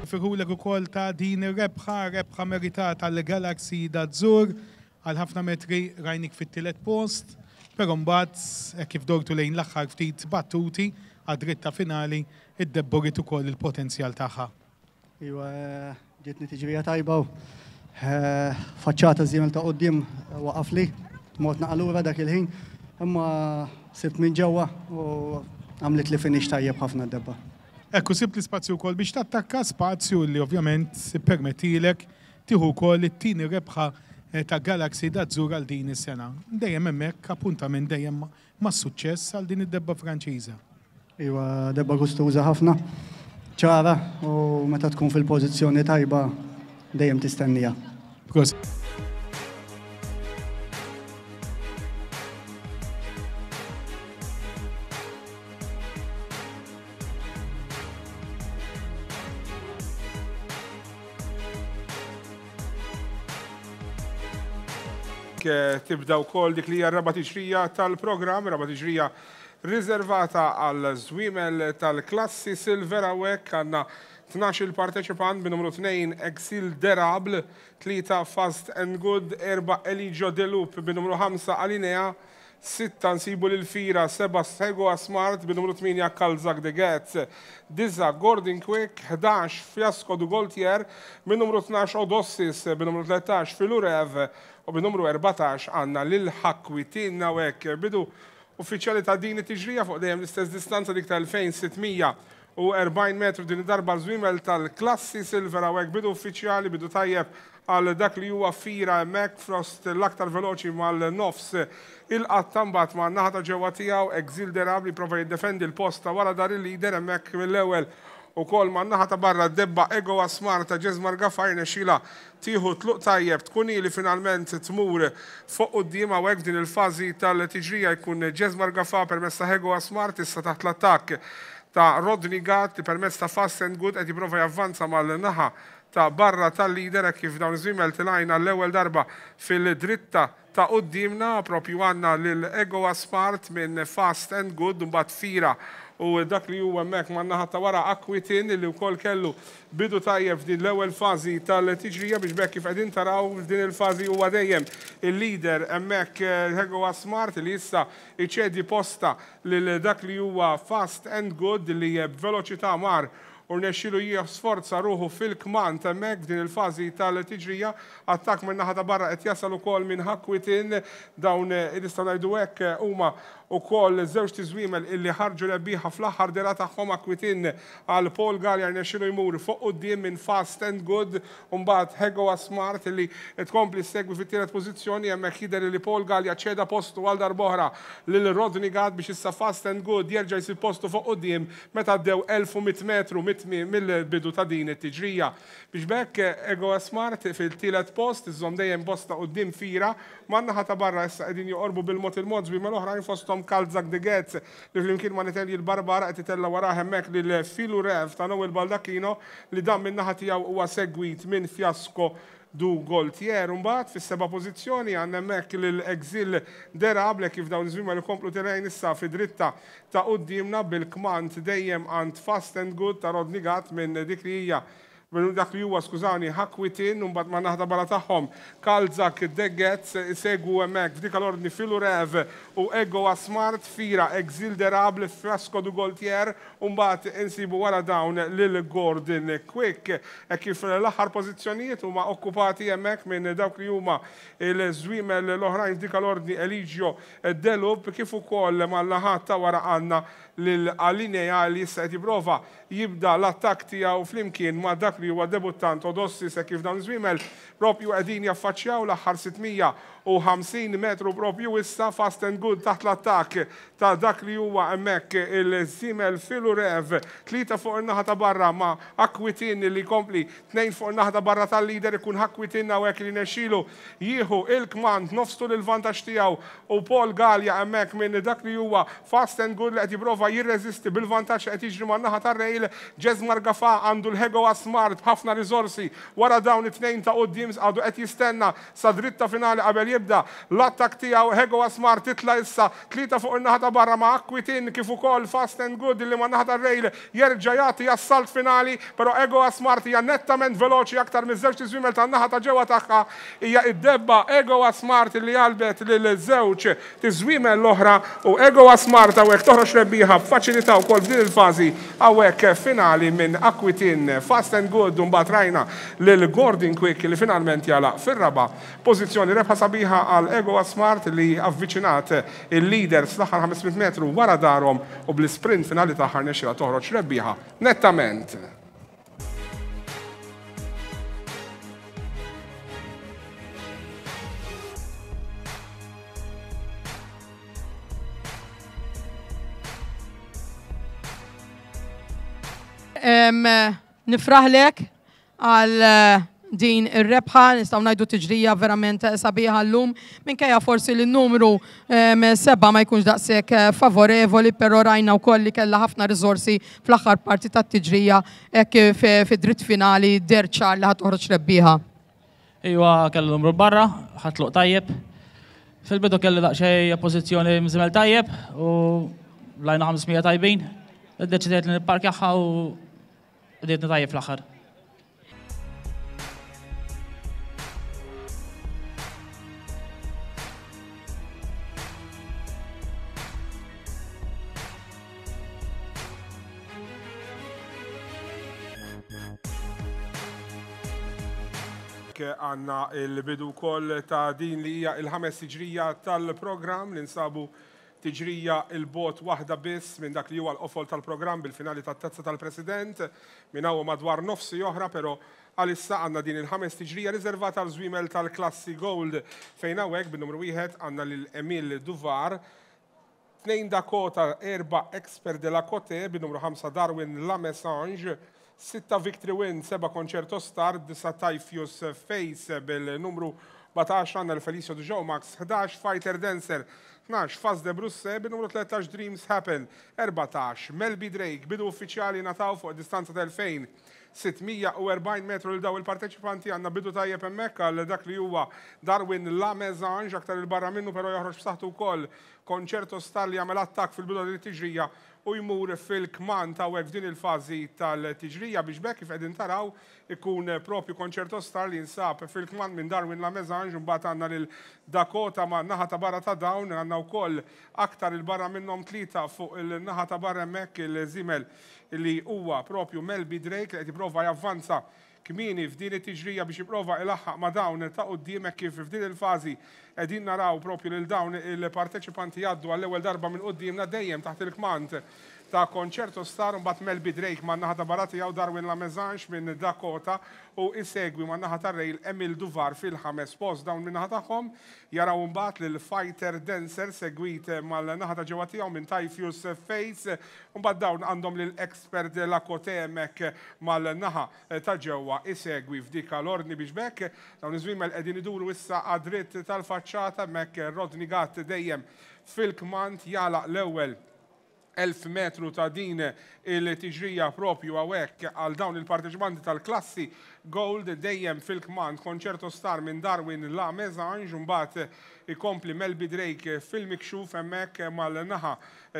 Firulek ukoll ta' din ir-rebħa, rebħa meritata għal Galaxy d'Azur għal ħafna metri rajnik fit-tielet post, però mbagħad kif dortu lejn l-aħħar ftit battuti għad-dritta finali iddebborit ukoll il-potenzjal tagħha. Iwa, ġietni tiġrija tajba u faċċata żiemel ta' quddiem waqaf li, mort naqalura dak il-ħin, imma sibt minn ġewwa u għamlet li finish tajjeb ħafna d-debba. Ekku, sibt l-ispazju wkoll biex tattakka, spazju li ovvjament permettilek tieħu wkoll it-tieni rebħa ta' Galaxy d'Azur għal din is-sena. Dejjem hemmhekk appuntament dejjem ma' suċċess għal din id-debba Franċiża. Iwa, debba gustuża ħafna, ċara u meta tkun fil-pożizzjoni tajba dejjem tistennija. Tibda wkoll dik li hija r-raba' tiġrija tal-programm, raba' tiġrija riservata għal żwiemel tal-klassi Silver. Hawnhekk għandna tnax-il parteċipant bi numru tnejn Exil Derable, tlieta Fast and Good, erba' Eligio Delup bi numru ħamsa Alinea, sitta nsibu lil Fira, seba' Sego Smart bi numru tmienja Kalzak de Getz, disa Gordon Quick, ħdax Fiasco du Goltier, bi numru tnax Odossis, bi numru tlettax Filurev u bi numru erbatax għandna lil Ħakwitin. Hawnhekk bidu uffiċjali ta' din it-tiġrija fuq dejjem l-istess distanza dik ta' elfejn sittmija u erbgħin metru din id-darba żwiemel tal-klassi Silver. Hawnhekk bidu uffiċjali, bidu tajjeb għal dak li huwa Fira hemmhekk fost l-aktar veloċi mal-nofs il-qatta mbagħad ma' naħa ta' ġewwa tiegħu Exil Derable prova jiddefendi l-post ta' wara dar il-leader hemmhekk mill-ewwel ukoll ma' naħa ta' barra debba Ego Asmar ta' Jesmar Gafa jirnexxilha tieħu tluq tajjeb tkun li finalment tmur fuq quddiem. Hawnhekk din il-fażi tal-tiġrija jkun Jesmar Gafa permezz ta' Ego Asmar issa taħt l-attakk ta' Rodney Gatt li permezz ta' Fast and Good qed jipprova javvanza mal-naħa ta' barra tal-leader kif dawn iż-żwiemel tilajna l-ewwel darba fil-dritta ta' quddiemna propju għandna lil Ego Smart minn Fast and Good mbagħad Fira u dak li huwa hemmhekk man-naħa ta' wara Akwitin li wkoll kellu bidu tajjeb f'din l-ewwel fażi tal-tiġrija biex bekk kif qegħdin taraw f'din il-fażi huwa dejjem il-leader hemmhekk Ego Smart li issa iċedi posta lil dak li huwa Fast and Good li b'veloċità mar u rnexxielu jisforza ruħu fil-kmand hemmhekk f'din il-fażi tal-tiġrija. Attakk minn naħa ta' barra qed jasal ukoll minn Ħakwitin, dawn nistgħu ngħidu hekk huma ukoll żewġ tiżwiemel illi ħarġu rebbieħa fl-aħħar dera tagħhom. Akwitin għal Paul Galea rnexxielu jmur fuq quddiem minn Fast and Good u mbagħad Ego Smart illi tkompli segwi fit-tielet pożizzjoni. Hemmhekk jidher li Paul Galea ċeda postu għal darb'oħra lil Rodney Gatt biex issa Fast and Good jerġa' jsib postu fuq quddiem meta għaddew elf u mitt metru mill-bidu ta' din it-tiġrija. Biex bekk Ego Smart fil-tielet post iżżomm dejjem posta quddiem Fira man-naħa ta' barra issa qegħdin joqorbu bil-mod il-mod żwiemel oħrajn fosthom Kalzak de Getz li flimkien ma' Nitelji l-Barbara qed itella' warah hemmhekk lil Filurev ta' Noel Baldacchino li dan min-naħa tiegħu huwa segwit minn Fiasco du Gaultier. Mbagħad fis-seba' pożizzjoni għandna hemmhekk lil Exil Derable kif dawn iż-żwiemel ikomplu telgħin issa fi dritta ta' quddiemna bil-kmand dejjem għand Fast and Good ta' Rodney Gatt minn dik li hija minn dak li huwa, skużani, Hakwitin, u mbagħad ma' naħda barra tagħhom Kalzak Deggetz, isegwu hemmhekk f'dik l-ordni Filurev u Ego Smart, Fira, Exil Derable, Frasco du Gaultier, u mbagħad insibu wara dawn lil Gordon Quick. E kif l-aħħar pożizzjonijiet huma okkupati hemmhekk minn dawk li huma l-żwiemel l-oħrajn f'dik l-ordni Eligio Delup, kif ukoll mal-naħat ta' wara għandna lil Alinea li issa qed jipprova jibda l-attakk tiegħu flimkien ma' dak li huwa debuttant Odossi, se kif dawn iż-żwiemel propju qegħdin jaffaċċjaw l-aħħar sitt mija u ħamsin metru propju issa. Fast and Good taħt l-attakk ta' dak li huwa hemmhekk il-żiemel Filurev, tlieta fuq in-naħa ta' barra ma' Akwitin li kompli tnejn fuq in-naħa ta' barra tal-leader. Ikun Akwitin hawnhekk li nexxielu jieħu il-kmand nofstu l-vantaġġ tiegħu u Paul Gallia hemmhekk minn dak li huwa Fast and Good li qed jipprova jirreżisti bil-vantaġġ qed jiġri man-naħa tar-rail. Jesmar Gafa għandu l-Hego Smart b'ħafna riżorsi wara dawn it-tnejn ta' quddiem, għadu qed jistenna sa dritta finali qabel jibda l-attak tiegħu. Hego Smart titla issa tlieta fuq in-naħa ta' barra ma' Akwitin kif ukoll Fast and Good li ma' naħa tar-rail jerġa' jagħti assalt finali, però Ego Smart hija nettament veloċi aktar miż-żewġ tiżwiemel tan-naħa ta' ġewwa tagħha. Hija id-debba Ego Smart li għalbet lil żewġ tiżwiemel l-oħra u Ego Smart hawnhekk toħroġ rebbieħa b'faċilità wkoll f'din il-fażi hawnhekk finali minn Akwitin, Fast and Good, u mbagħad rajna lil Gordon Quick li finalment jagħlaq fir-raba' pożizzjoni. Rebħa sabiħa għal Ego Smart li avviċinat il-leaders l-aħħar ħames mitt metru wara darhom u bl-sprint finali tagħha rnexxielha toħroġ rebbieħa nettament. Em, Nifraħlek għal eh, din ir-rebħa, nistgħu ngħidu tiġrija verament sabiħa llum, minkejja forsi li n-numru em, seba' ma jkunx daqshekk eh, favorevoli, però rajna wkoll li kellha ħafna riżorsi fl-aħħar parti tat-tiġrija hekk kif fid-dritt finali deher ċar li ħa toħroġ rebbieħa. Iwa, kellu numru barra, ħatluq tajjeb. Fil-bidu kelli daqsxejn pożizzjoni mżimel tajjeb u lajna ħames mija tajbin. Iddeċidejt li nipparkjaħħa u bdiet tajjeb fl-aħħar. Għandna il-bidu wkoll ta' din li hija il-ħames tiġrija tal-programm li nsabu tiġrija il-bot waħda biss minn dak li huwa l-qofol tal-programm bil-finali tat-Tazza tal-President minn hawn madwar nofsi oħra, però għalissa għandna din il-ħames tiġrija riservata għal żwiemel tal-klassi Gold, fejn hawnhekk bin-numru wieħed għandna lil Emil Duvar, tnejn Dakota, erba' Expert de la Cote, bin-numru ħamsa Darwin Lamesange, sitta Victory Win, seba' Concerto Star, disa' Typheus Face, bil-numru sbatax għandna l-Felicio Dujoe Max, ħdax Fighter Dancer, tnax Faz de Brusse, bin-numru tlettax Dreams Happen, erbatax Melby Drake. Bidu uffiċjali nataw fuq distanza tal-elfejn sitt mija u erbgħin metru l daw il-parteċipanti. Għandna bidu tajjeb hemmhekk għal dak li huwa Darwin Lamezange, aktar il-barra minnu però joħroġ b'saħħtu wkoll Concerto Star li jagħmel attakk fil-bidu din it-tiġrija u jmur fil-kmand ta' f'din il-fażi tal-tiġrija biex bekk kif qegħdin taraw ikun propju Concerto Star li jinsab fil-kmand minn Darwin Lamezange, mbagħad għandna lil Dakota ma' naħa ta' barra ta' dawn, għandna wkoll aktar il-barra minnhom tlieta fuq il-naħa ta' barra hemmhekk il-żiemel li huwa propju Melby Drake li qed jipprova javvanza kmieni f'din it-tiġrija biex jipprova ilaħħaq ma' dawn ta' quddiemek, kif f'din il-fażi qegħdin naraw propju lil dawn il-parteċipanti jgħaddu għall-ewwel darba minn quddiemna dejjem taħt il-kmand ta' Concerto Star, mbagħad Melby Drake ma' naħa ta' barra tiegħu Darwin Lamezange minn Dakota u isegwi ma' naħa ta' rail Emil Duvar fil-ħames post. Dawn minn naħa tagħhom jaraw mbagħad lil Fighter Dancer segwit mal-naħa ta' ġewwa tiegħu minn Typheus Face, mbagħad dawn għandhom lil Expert de la Cote hemmhekk mal-naħa ta' ġewwa isegwi f'dik l-ordni biex bekk dawn iż-żwiemel qegħdin iduru issa għad-dritt tal-faċċata. Hemmhekk Rodney Gatt dejjem fil-kmand jagħlaq l-ewwel elf metru ta' din il-tiġrija propju hawnhekk għal dawn il-parteċipanti tal-klassi Gold dejjem fil-kmand Concerto Star minn Darwin La Mesange, mbagħad ikompli Melby Drake fil-mikxuf hemmhekk mal-naħa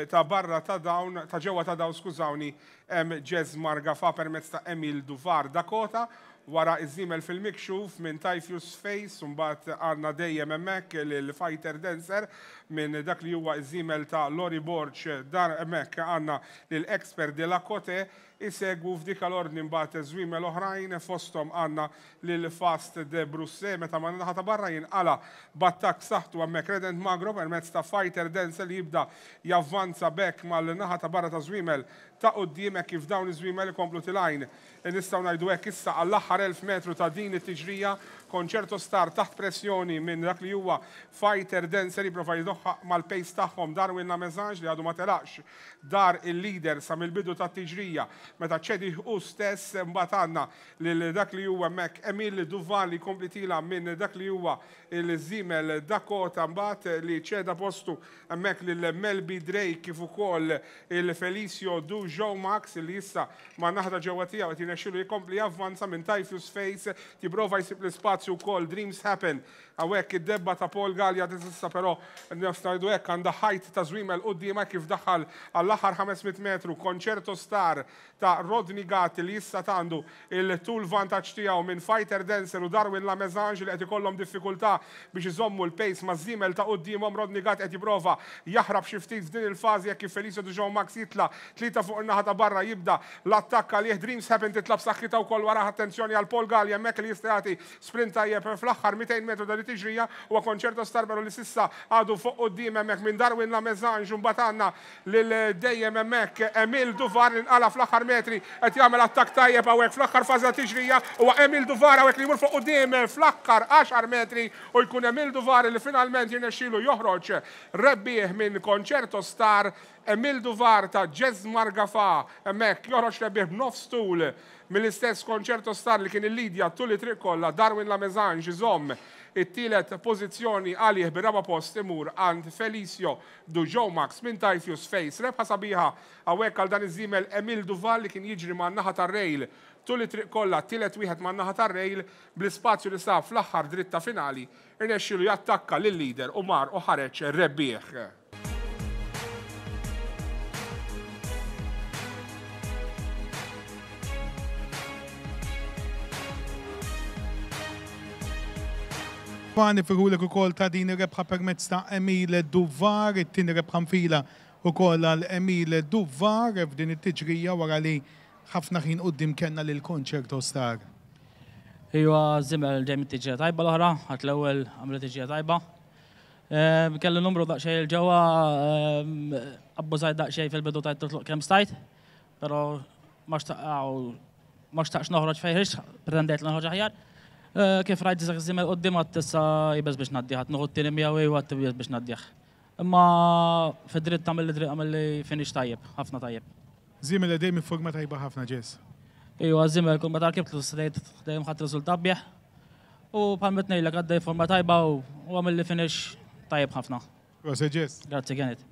ta' barra ta' dawn, ta' ġewwa ta' dawn, skużawni, hemm Jazz Margafa permezz ta' Emil Duvar. Dakota wara iż-żiemel fil-mikxuf minn Typhus Face, mbagħad għandna dejjem hemmhekk lil Fighter Dancer minn dak li huwa iż-żiemel ta' Lori Borch, dar hemmhekk għandna lil Expert de la Cote isegwu f'dik l-ordni mbagħad żwiemel oħrajn, fosthom għandna lil Fast de Brusse meta ma naħa ta' barra jinqala b'attakk saħtu hemmhekk Redent Magro permezz ta' Fighter Dancer li jibda javvanza bekk mal-naħa ta' barra ta' żwiemel ta' quddiem hekk kif dawn iż-żwiemel ikomplu tilgħin. Nistgħu ngħidu hekk issa għall-aħħar elf metru ta' din it-tiġrija Concerto Star taħt pressjoni minn dak li huwa Fighter Dancer jipprova jidoħħaq mal-pace tagħhom Darwin La Mesange li għadu ma telaqx dar il-leader sa mill-bidu tat-tiġrija meta ċedi hu stess. Mbagħad għandna lil dak li huwa hemmhekk Emil Duval li jkompli tila minn dak li huwa il-żiemel Dakota, mbagħad li ċeda postu hemmhekk lil Melby Drake kif ukoll il-Felicio Du Joe Max li issa ma' naħda ġewwa tiegħu qed jirnexxielu jkompli javvanza minn Typhus Face, jipprova jsib l-ispazju wkoll Dreams Happen. Hawnhekk id-debba ta' Paul Gallia issa però ngħidu hekk għandha ħajt ta' żwiemel quddiemha kif daħal għall-aħħar ħames mitt metru Concerto Star ta' Rodney Gatt li issa għandu il-tul vantaġġ tiegħu minn Fighter Dancer u Darwin La Mesange li qed ikollhom diffikultà biex iżommu l-pace ma' żiemel ta' quddiemhom. Rodney Gatt qed jipprova jaħrab xi ftit f'din il-fażi jekk kif Felicio Du Joe Max jitla' tlieta fuq in-naħa ta' barra jibda l-attakk għalih. Dreams Happen titla' b'saħħitha wkoll wara, attenzjoni għal Paul Gallia hemmhekk li jista' jagħti sprint tajjeb fl-aħħar mitejn metru ta' tiġrija huwa Concerto Star però li sissa għadu fuq quddiem hemmhekk minn Darwin La Mesange. Mbagħad għandna lil dejjem hemmhekk Emil Duvar li nqala fl-aħħar metri qed jagħmel attakk tajjeb hawnhekk fl-aħħar fażi ta' tiġrija huwa Emil Duvar hawnhekk li jmur fuq quddiem fl-aħħar għaxar metri u jkun Emil Duvar li finalment jirnexxielu joħroġ rebbieħ minn Concerto Star. Emil Duvar ta' Jazz Margafa hemmhekk joħroġ rebbieħ b'nofs tul mill-istess Concerto Star li kien il-lidja tul it-triq kollha. Darwin La Mesange iżomm it-tielet pożizzjoni għalih bir-raba' post imur għand Felicio Du Joe Max minn Typhus Face. Rebħa sabiħa hawnhekk għal dan iż-żiemel Emil Duval li kien jiġri man-naħa tar-rejl tul it-triq kollha, tielet wieħed man-naħa tar-rejl bl-ispazju li sab fl-aħħar dritta finali irnexxielu jattakka lil-leader u mar u ħareġ rebbieħ. Nifirħulek ukoll ta' din ir-rebħa permezz ta' Emil Duvar, it-tieni rebħa nfila ukoll għal Emil Duvar f'din it-tiġrija wara li ħafna ħin quddiem kellna lil Concerto Star. Iwa, żiemel ġej mit-tiġrija tajba l-oħra, ħadd l-ewwel għamlet tiġrija tajba. Kellu numru daqsxejn il-ġewwa, abbużajt daqsxejn fil-bidu tajt titluq kemm stajt, però ma xtaqx noħroġ fejn ħriġt, pretendejt li noħroġ aħjar. Kif rajt dak iż-żiemel quddiem għad issa jibes biex ngħaddih, għad nieħu t-tieni miegħu u għad jibes biex ngħaddih. Imma fid-dritt tagħmel li dritt għamel li finish tajjeb, ħafna tajjeb. Żiemel dejjem forma tajba ħafna Jess. Iwa, żiemel kull meta rkibtlu dejjem ħadd riżultat bih. U bħal meta ngħidlek għaddej forma tajba u għamel li finish tajjeb ħafna. Proset Jess. Grazzi Kenneth.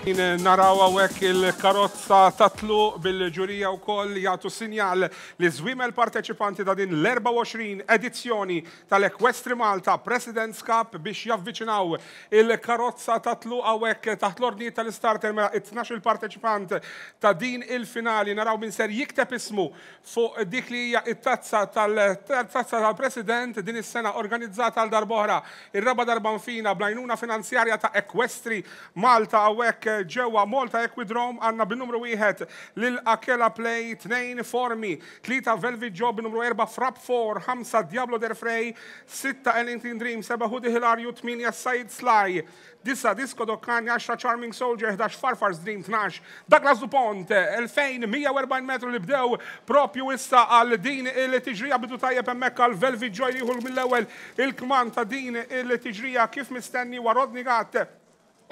Naraw hawnhekk il-karozza tatlu bil-ġurija wkoll jagħtu sinjal li żwiemel parteċipanti ta' din l-erbgħa u għoxrin edizzjoni tal-Equestri Malta President's Cup biex javviċinaw il-karozza tatlu hawnhekk taħt l-ordnijiet tal-istarter mela it-tnax il parteċipant ta' din il-finali. Naraw min ser jikteb ismu fuq dik li hija it-tazza tal-tazza tal-President din is-sena organizzata għal darb'oħra ir-raba' darba nfina bl-għajnuna finanzjarja ta' Equestri Malta hawnhekk ġewwa Malta Equidrome. Għandna bin-numru wieħed lil Akela Play, tnejn Formi, tlieta Velvet Job, numru erba' Frap four, ħamsa Diablo Der Frey, sitta Ellington Dream, seba' Hoodie Hilario, tmienja Said Sly, disa' Disco Dokkani, għaxra Charming Soldier, ħdax Farfar's Dream, tnax Douglas Dupont. Elfejn mija u erbgħin metru li bdew propju issa għal din il-tiġrija. Bidu tajjeb hemmhekk għal Velvet Joy jieħu mill-ewwel il-kman ta' din il-tiġrija kif mistenni wa Rodney Gatt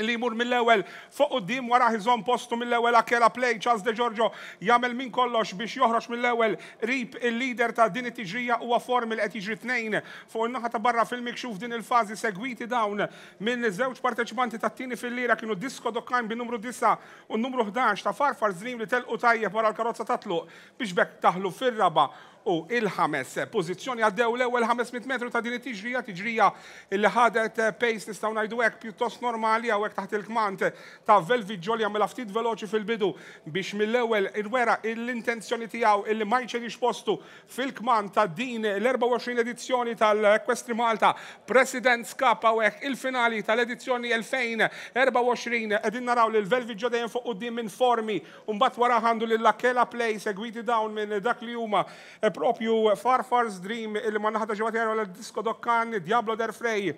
li jmur mill-ewwel fuq quddiem, wara iżomm postu mill-ewwel Akela Play. Charles De Giorgio jagħmel minn kollox biex joħroġ mill-ewwel qrib il-leader ta' din it-tiġrija huwa Formi li qed jiġri tnejn fuq in-naħa ta' barra fil-mikxuf din il-fażi, segwiti dawn minn żewġ parteċipanti tat-tieni fil-lira kienu Disco Dokkan bin numru disa' u n-numru ħdax ta' Farfar Dream li telqu tajjeb wara l-karozza tatluq biex bekk taħlu fir-raba' u il-ħames pożizzjoni. Għaddew l-ewwel ħames mitt metru ta' din it-tiġrija, tiġrija li ħadet pace nistgħu ngħidu hekk pjuttost normali hawnhekk taħt il-kmand ta' Velvet Joy li għamilha ftit veloċi fil-bidu biex mill-ewwel irwera l-intenzjoni tiegħu illi ma jċedix postu fil-kmand ta' din l-erbgħa u għoxrin edizzjoni tal-Equestri Malta President's Cup hawnhekk il-finali tal-edizzjoni elfejn erbgħa u għoxrin. Qegħdin naraw lil Velvet Joy dejjem fuq quddiem minn Formi u mbagħad wara għandu lil Akela Play, segwiti dawn minn dak li huma propju Farfar's Dream illi ma naħta ġewwa tiegħu għal Disco Dokkan, Diablo Der Frey.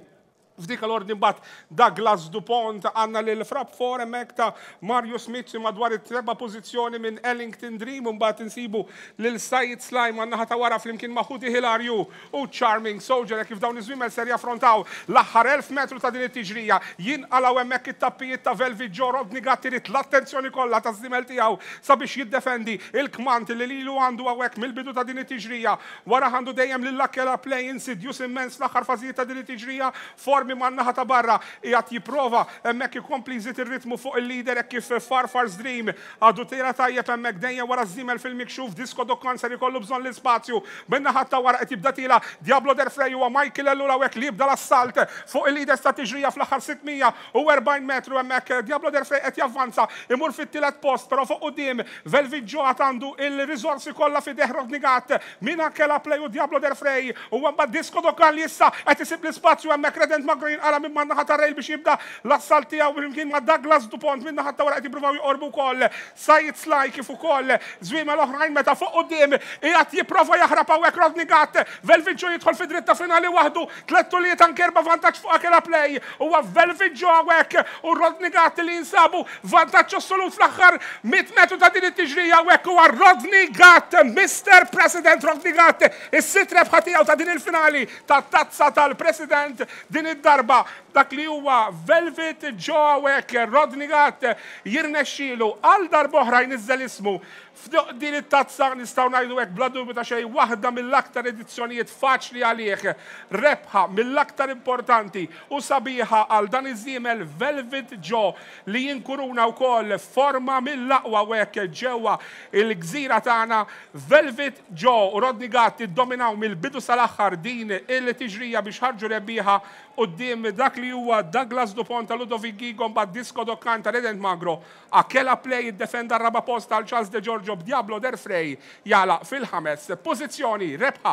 F'dik l-ordni mbagħad Douglas Dupont, għandna lil Frap four hemmhekk ta' Mario Smith madwar it-treba' pożizzjoni minn Ellington Dream, u mbagħad insibu lil Said Sly man naħa ta' wara flimkien ma' Hoodie Hilario u Charming Soldier. Kif dawn iż-żwiemel ser jaffrontaw l-aħħar elf metru ta' din it-tiġrija, jinqalgħu hemmhekk it-tappijiet ta' Velvet Joe. Rodney Gatt irid l-attenzjoni kollha taż-żiemel tiegħu sabiex jiddefendi il-kmand li lilu għandu hawnhekk mill-bidu ta' din it-tiġrija. Wara għandu dejjem lil Akela Play insidjus immens l-aħħar fażijiet ta' din it-tiġrija. Formi man naħa ta' barra qiegħed jipprova hemmhekk ikompli jżid ir-ritmu fuq il-leader hekk kif Farfar's Dream għadu tira tajjeb hemmhekk dejjem wara żiemel fil-mikxuf. Disco Dokkan ser ikollu bżonn l-ispazju minn naħa ta' wara qed jibda tila Diablo Der Frey huwa Michael Ellul hawnhekk li jibda l-assalt fuq il-leader ta' tiġrija fl-aħħar sitt mija u erbgħin metru. Hemmhekk Diablo Der Frey qed javvanza imur fit-tielet post, però fuq quddiem Velvet Joe għad għandu il-riżorsi kollha f'idejh Rodney Gatt minn Akela Play u Diablo Der Frey u mbagħad Disco Dokkan li issa qed isib l-ispazju hemmhekk. Redent Magro jinqala minn man naħa ta' rail biex jibda l-assalt tiegħu flimkien ma' Douglas Dupont minn naħa ta' wara qed jippruvaw joqorbu wkoll Said Sly kif ukoll żwiemel oħrajn meta fuq quddiem qiegħed jipprova jaħrab hawnhekk Rodney Gatt. Velvet Joe jidħol fi dritta finali waħdu, tliet tuliet anke erba' vantaġġ fuq Akela Play. Huwa Velvet Joe hawnhekk u Rodney Gatt li jinsabu vantaġġ assolut fl-aħħar mitt metru ta' din it-tiġrija. Hawnhekk huwa Rodney Gatt, Mister President Rodney Gatt, is-sitt rebħa tiegħu ta' din il-finali tat-tazza tal-President din id-darba. Dak li huwa Velvet Joe hawnhekk Rodney Gatt jirnexxielu għal darb'oħra jniżżel ismu f'din din it-tazza, nistgħu ngħidu hekk bla dubju ta' xejn waħda mill-aktar edizzjonijiet faċli għalih, rebħa mill-aktar importanti u sabiħa għal dan iż-żiemel Velvet Joe li jinkuruna wkoll forma mill-aqwa hawnhekk ġewwa il-gżira tagħna. Velvet Joe u Rodney Gatt iddominaw mill-bidu sal-aħħar din il-tiġrija biex ħarġu rebbieħa quddiem dak li huwa Douglas Dupont ta' Ludovic Gigon bad Disco Dokkan ta' Redent Magro. Akela Play iddefenda r-raba' post għal Charles De Giorgio b'Diablo Der Frey jala fil-ħames pożizzjoni. Rebħa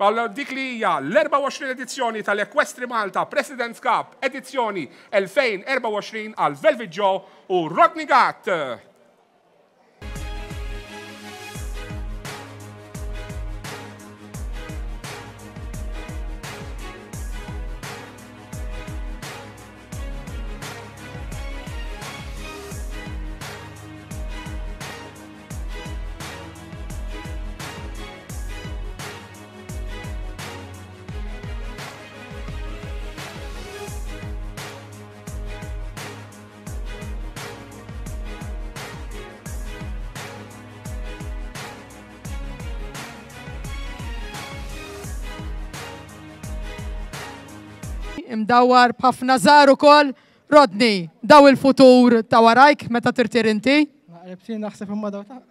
għal dik li hija l-erbgħa u għoxrin edizzjoni tal-Equestri Malta President's Cup edizzjoni elfejn erbgħa u għoxrin għal Velvet Joe u Rodney Gatt. Imdawwar b'ħafna żgħar ukoll Rodney, daw il-futur ta' warajk meta tirtir inti? Naqreb naħseb imma daw ta'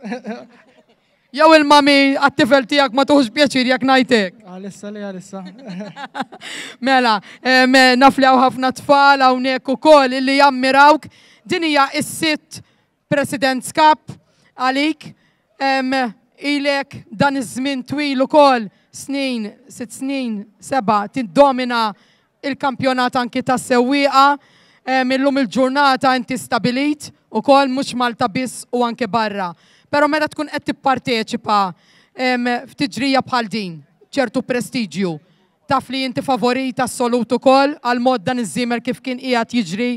Jew il-mami għat-tifel tiegħek ma tuħux pjaċir jekk ngħidlek. Għalissa li għalissa. Mela, naf li hawn ħafna tfal hawnhekk ukoll illi jammirawk. Din hija s-sitt President's Cup għalik. Ilek dan iż-żmien twil ukoll snin, sitt snin, seba' tiddomina il-kampjonat anki tas-sewwieqa. Illum il-ġurnata inti stabilit ukoll mhux Malta biss u anke barra. Pero meta tkun qed tipparteċipa f'tiġrija bħal din, ċertu prestiġju, taf li inti favorit assolut ukoll għal mod dan iż-żiemel kif kien qiegħed jiġri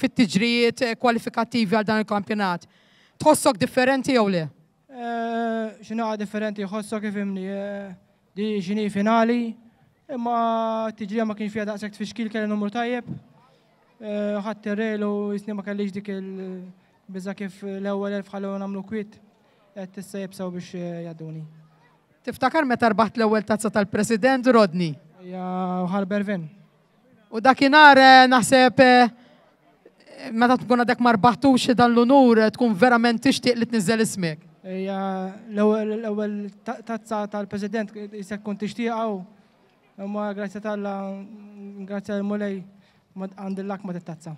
fit-tiġrijiet kwalifikattivi għal dan il-kampjonat. Tħossok differenti jew le? X'inhu differenti, ħossok ifhimni, di x'inhi finali, imma t-tiġrija ma kienx fiha daqshekk tfixkil, kelli numru tajjeb. Ħadd ir-rejl u jisni ma kellix dik il- Biza kif l-ewwel elf ħallew nagħmlu kwiet, qed issa jibsew biex jgħadduni. Tiftakar meta rbaħt l-ewwel tazza tal-President, Rodney? Ja, ħal Bervin. U dakinhar naħseb meta tkun għadek ma rbaħtux dan l-unur tkun verament tixtieq li tniżżel ismek. Ija, l-ewwel tazza tal-President jista' tkun tixtieqha u imma grazzi tal-Alla, grazzi għall-Mulej għandillak ma tit-tazza.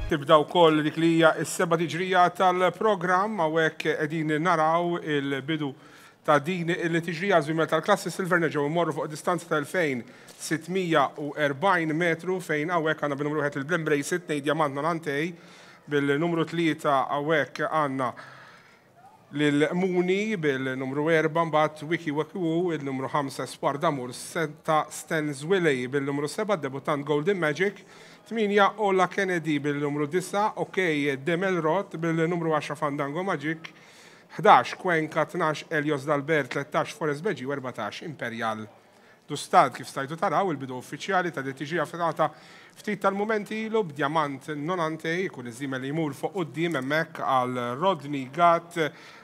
Tibda wkoll dik li hija s-seba' tiġrija tal-programm hawnhekk qegħdin naraw il-bidu ta' din il-tiġrija żwiemel tal-klassi Silver nerġgħu mmorru fuq distanza ta' elfejn sitt mija u erbgħin metru fejn hawnhekk għandna bin-numru wieħed il-Blembrace tnejn Diamant Nonantej, bil-numru tlieta hawnhekk għandna lil Muni bil-numru erba' mbagħad Wiki Wiki Woo, il-numru ħamsa Espoir D'Amour, setta Stens Willey bil-numru seba' debutant Golden Magic, tmienja Ola Kennedy bil-numru disa' OK Demel Roth bil-numru għaxra Fandango Magic, ħdax Cuenca, tnax Elios Dalbert, tlettax Forest Beġi u erbatax Imperial Dustad. Kif stajtu taraw il-bidu uffiċjali ta' D T G f'data ftit tal-mumenti ilu b'Diamant Nonante jkun iż-żiemel li jmur fuq quddiem hemmhekk għal Rodney Gatt.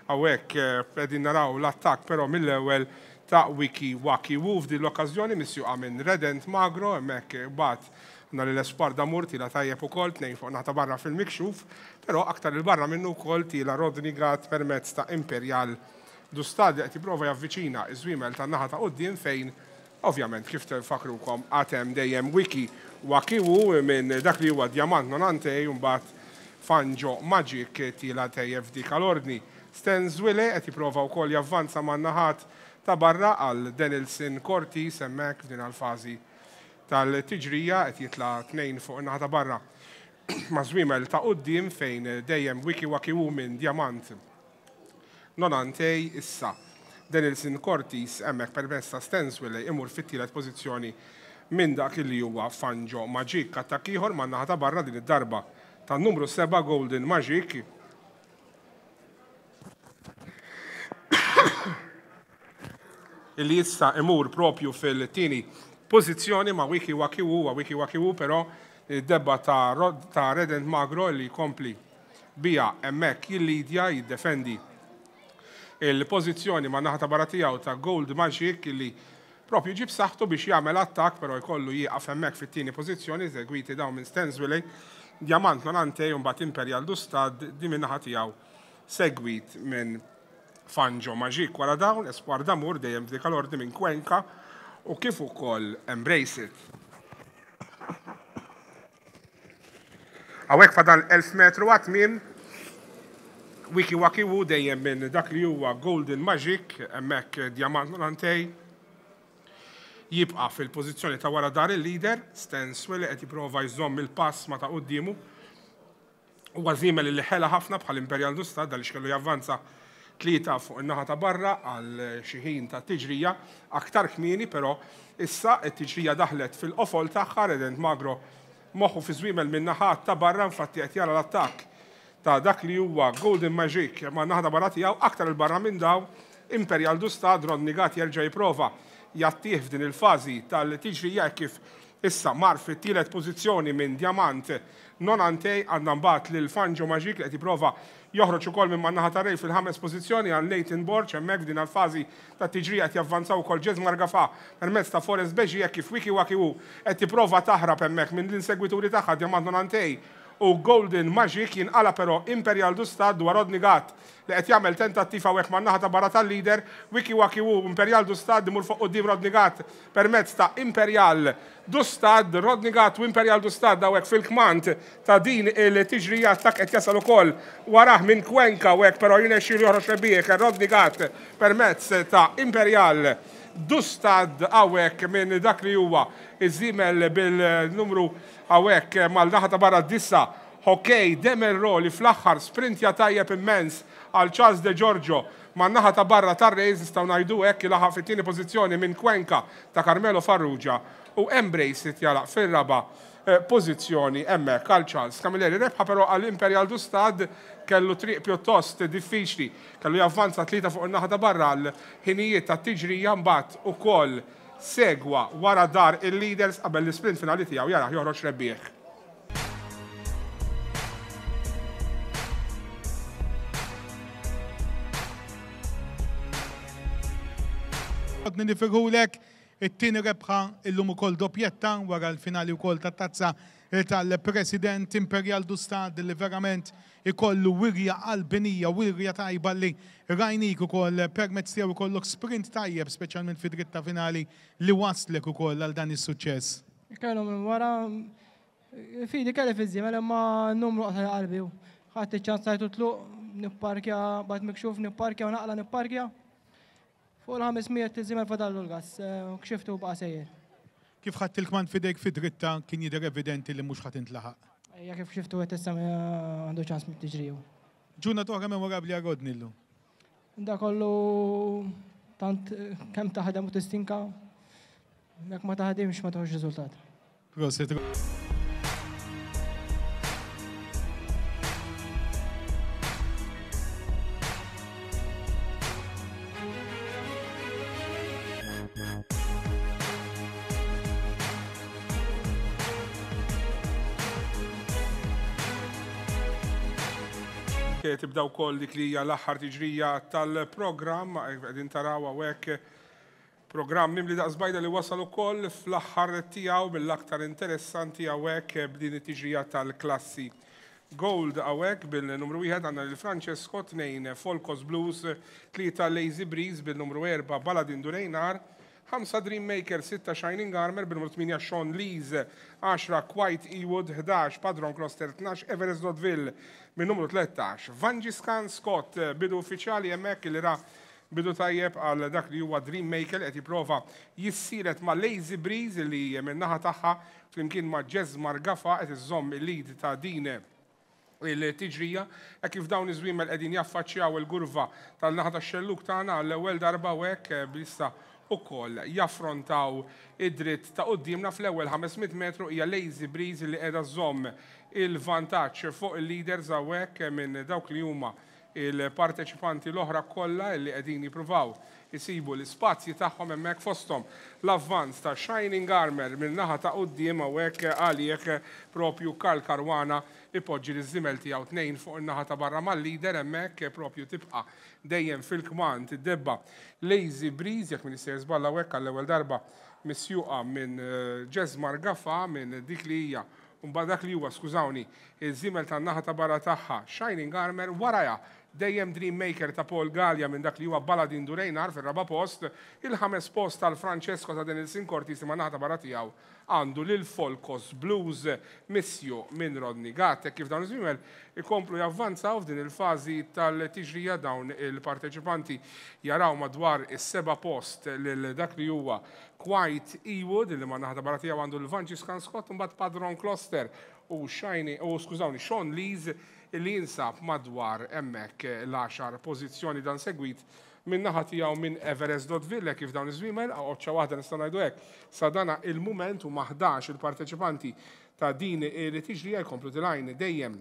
Hawnhekk qegħdin naraw l-attakk però mill-ewwel ta' Wiki Waki Woo f'din l-okkażjoni misjuqa minn Redent Magro. Hemmhekk bat nhar l-Espoir D'Amour tila tajjeb ukoll tnejn fuq naħta barra fil-mikxuf, però aktar il-barra minnu wkoll tila Rodney Gatt permezz ta' Imperial Dustad li qed jipprova javviċina iż-żwiemel tan-naħa ta' quddiem fejn Ovvjament kif tfakrukom għatem dejjem Wiki Wakiwu minn dak li huwa Diamant Nonante u mbagħad Fanjo Magic tila tejjeb f'dik l-ordni. Stenzwille qed jipprova wkoll javvanza man-naħat ta' barra għal Denilson Cortis hemmhekk f'din għal-fażi tal-tiġrija qed jitla' tnejn fuq in-naħa ta' barra ma' żwiemel ta' quddiem fejn dejjem Wiki Wakiwu minn Diamant Nonante issa. Denilson Cortis hemmhekk permezz ta' Stenzwille imur fit-tielet pożizzjoni minn dak li huwa Fanjo Magic. Attakk ieħor man-naħa ta' barra din id-darba tan-numru seba' Golden Magic. Illi issa imur propju fil-tieni pożizzjoni ma' Wiki Wakiwu, wa Wiki Wakiwu però id-debba ta', ta' Redent Magro li jkompli bija hemmhekk jillidja jiddefendi il-pożizzjoni ma' naħa ta' barra tiegħu ta' Gold Magic li propju ġib saħħtu biex jagħmel attakk però jkollu jieqaf hemmhekk fit-tieni pożizzjoni segwiti dawn minn Stenzwille, Diamant Nonante u mbagħad Imperial Dustad di minn naħa tiegħu segwit minn Fanjo Magic. Wara dawn Espoir d'Amour dejjem f'dik l-ordni minn Cuenca u kif ukoll Embrace It. Hawnhekk fadal elf metru għat-tmiem Wiki Wakiwu dejjem minn dak li huwa Golden Magic hemmhekk Diamant Nonante jibqa' fil-pożizzjoni ta' wara dar il-leader. Stenzwille qed jipprova jżomm il-pass ma ta' quddiemu. Huwa żiemel li ħela ħafna bħal Imperial Dustad għaliex kellu javvanza tlieta fuq in-naħa ta' barra għal xi ħin ta' tiġrija aktar kmieni, però issa t-tiġrija daħlet fil-qofol tagħha. Redent Magro moħħu fi żwiemel minn naħa ta' barra, infatti qed jara l-attakk ta' dak li huwa Golden Magic ma' naħa ta' barra tiegħu aktar il-barra minn daw Imperial Dustad. Rodney Gatt jerġa' jipprova jattih f'din il-fażi tal-tiġrija kif issa mar fit-tielet pożizzjoni minn Diamant Nonante. Għandna mbagħad lil Fanjo Magic li qed jipprova joħroġ ukoll minn man-naħa ta' Rej fil-ħames pożizzjoni għal Nathan Borg hemmhekk f'din il-fażi tat-tiġrija qed javvanzaw ukoll Jesmar Gafa permezz ta' Forest Beġi hekk kif Wiki Wakiwu qed tipprova taħrab hemmhekk minn l-insegwituri tagħha Diamant Nonante u Golden Magic. Jinqala però Imperial Dustad dwar Rodney Gatt li qed jagħmel tentattiv hawnhekk man-naħa ta' barra tal-leader. Wiki Wakiwu Imperial Dustad imur fuq quddiem Rodney Gatt permezz ta' Imperial Dustad. Rodney Gatt u Imperial Dustad hawnhekk fil-kmand ta' din il-tiġrija. Attakk qed jasal ukoll warah minn Cuenca hawnhekk però jirnexxielu joħroġ rebbieħ Rodney Gatt permezz ta' Imperial Dustad hawnhekk minn dak li huwa iż-żiemel bil-numru hawnhekk mal-naħa ta' barra disa Hockey Demelro li fl-aħħar sprintja tajjeb immens għal Charles De Giorgio man-naħa ta' barra tar-rejs nistgħu ngħidu hekk ilaħaq fit-tieni pożizzjoni minn Cuenca ta' Carmelo Farrugia u Embrace It jalaq fir-raba' pożizzjoni hemmhekk għal Charles Camilleri. Rebħa però għal Imperial Dustad kellu triq pjuttost diffiċli, kellu javvanza tlieta fuq in-naħa ta' barra għal ħinijiet ta' tiġrija mbagħad ukoll segwa wara dar il-leaders qabel l-isprint finali tiegħu jaraħ joħroġ rebbieħ. Għadni nifirħulek it-tieni rebħa illum ukoll doppjetta wara l-finali wkoll tat-tazza tal-President Imperial Dustad li verament ikollu wirja qalbinija, wirja tajba li rajnik ukoll permezz tiegħu ikollok sprint tajjeb speċjalment fi dritta finali li waslek ukoll għal dan is-suċċess. Kellu minn wara fidi kelli fiż-żiemel imma n-numru qata' qalbi. Ħadd iċ-ċans tajtu tluq, nipparkja, bad mikxuf nipparkja u naqla nipparkja. Fuq il-ħames mijiet iż-żiemel fadallu l-gas, kxiftu baqa' sejjer. Kif ħadd il-kmand fidejk fi dritta kien jidher evidenti li mhux ħadd intlaħaq. Ejja kif xiftu qed issa għandu ċans mit-tiġriju. Ġurnata oħra memorabbli għal Rodney llum. Da kollu tant kemm taħdem u tistinka, jekk ma taħdimx ma toħroġ riżultat. Prosit. Tibda wkoll dik li hija l-aħħar tiġrija tal-programm, qegħdin taraw hawnhekk programm mimli daqs bajda li wasal ukoll fl-aħħar tiegħu mill-aktar interessanti hawnhekk b'din it-tiġrija tal-klassi Gold hawnhekk bil-numru wieħed għandna lil Francesco, tnejn Folkos Blues, tlieta Lazy Breeze bil-numru erba' Baladin Durejnar, ħamsa Dream Maker, sitta Shining Armor, bin-numru tmienja Sean Lees, għaxra Quiet Ewood, ħdax Padron Cluster, tnax Everest Dotville, minn numru tlettax Vangiscan Scott. Bidu uffiċjali hemmhekk li ra bidu tajjeb għal dak li huwa Dream Maker, qed jipprova jissielet ma' Lazy Breeze li minn naħa tagħha flimkien ma' Jesmar Gafa qed iżżomm il-lead ta' din il-tiġrija, hekk kif dawn iż-żwiemel qegħdin jaffaċċjaw il-gurva tal-naħa tax-xelluk tagħna għall-ewwel darba u hekk bissa ukoll jaffrontaw id-dritt ta' quddiemna. Fl-ewwel ħames mitt metru hija Lazy Breeze li qiegħda żżomm il-vantaġġ fuq il-leaders hawnhekk minn dawk li huma il-parteċipanti l-oħra kollha li qegħdin jippruvaw isibu l-ispazji tagħhom hemmhekk, fosthom l-avvanz ta' Shining Armor minn naħa ta' quddiem hawnhekk għalih propju Karl Caruana ipoġġi l-żimel tiegħu tnejn fuq in-naħa ta' barra mal-leader hemmhekk propju tibqa' dejjem fil-kmand id-debba Lazy Breeze, jekk min jista' jiżballa hawnhekk għall-ewwel darba misjuqa minn Jesmar Gafa minn dik li hija mbagħad dak li huwa, skużawni, iż-żimel tan-naħa ta' barra tagħha Shining Armor, warajha dejjem Dream Maker ta' Paul Gallia minn dak li huwa Baladin Durejnar fir-raba' post, il-ħames post tal-Francesco ta' Denilson Cortis ma' naħa ta' barra tiegħu għandu lil Folkos Blues missju minn Rodney Gatt. Kif dawn iż-żwiemel ikomplu javvanzaw f'din il-fażi tal-tiġrija, dawn il-parteċipanti jaraw madwar is-seba' post lil dak li huwa Quiet Ewood li ma' naħa ta' barra tiegħu għandu l-Vangiscan Scott, imbagħad Padron Cluster u Shiny, u skużawni, Sean Lees li jinsab madwar hemmhekk l-għaxar pożizzjoni, dan segwit minn naħa tiegħu minn Everest Dotville. Kif dawn iż-żwiemel għoċċa waħda nistgħu ngħidu hekk sa dana il-mument huma ħdax il-parteċipanti ta' din il-tiġrija jkomplu tilgħin dejjem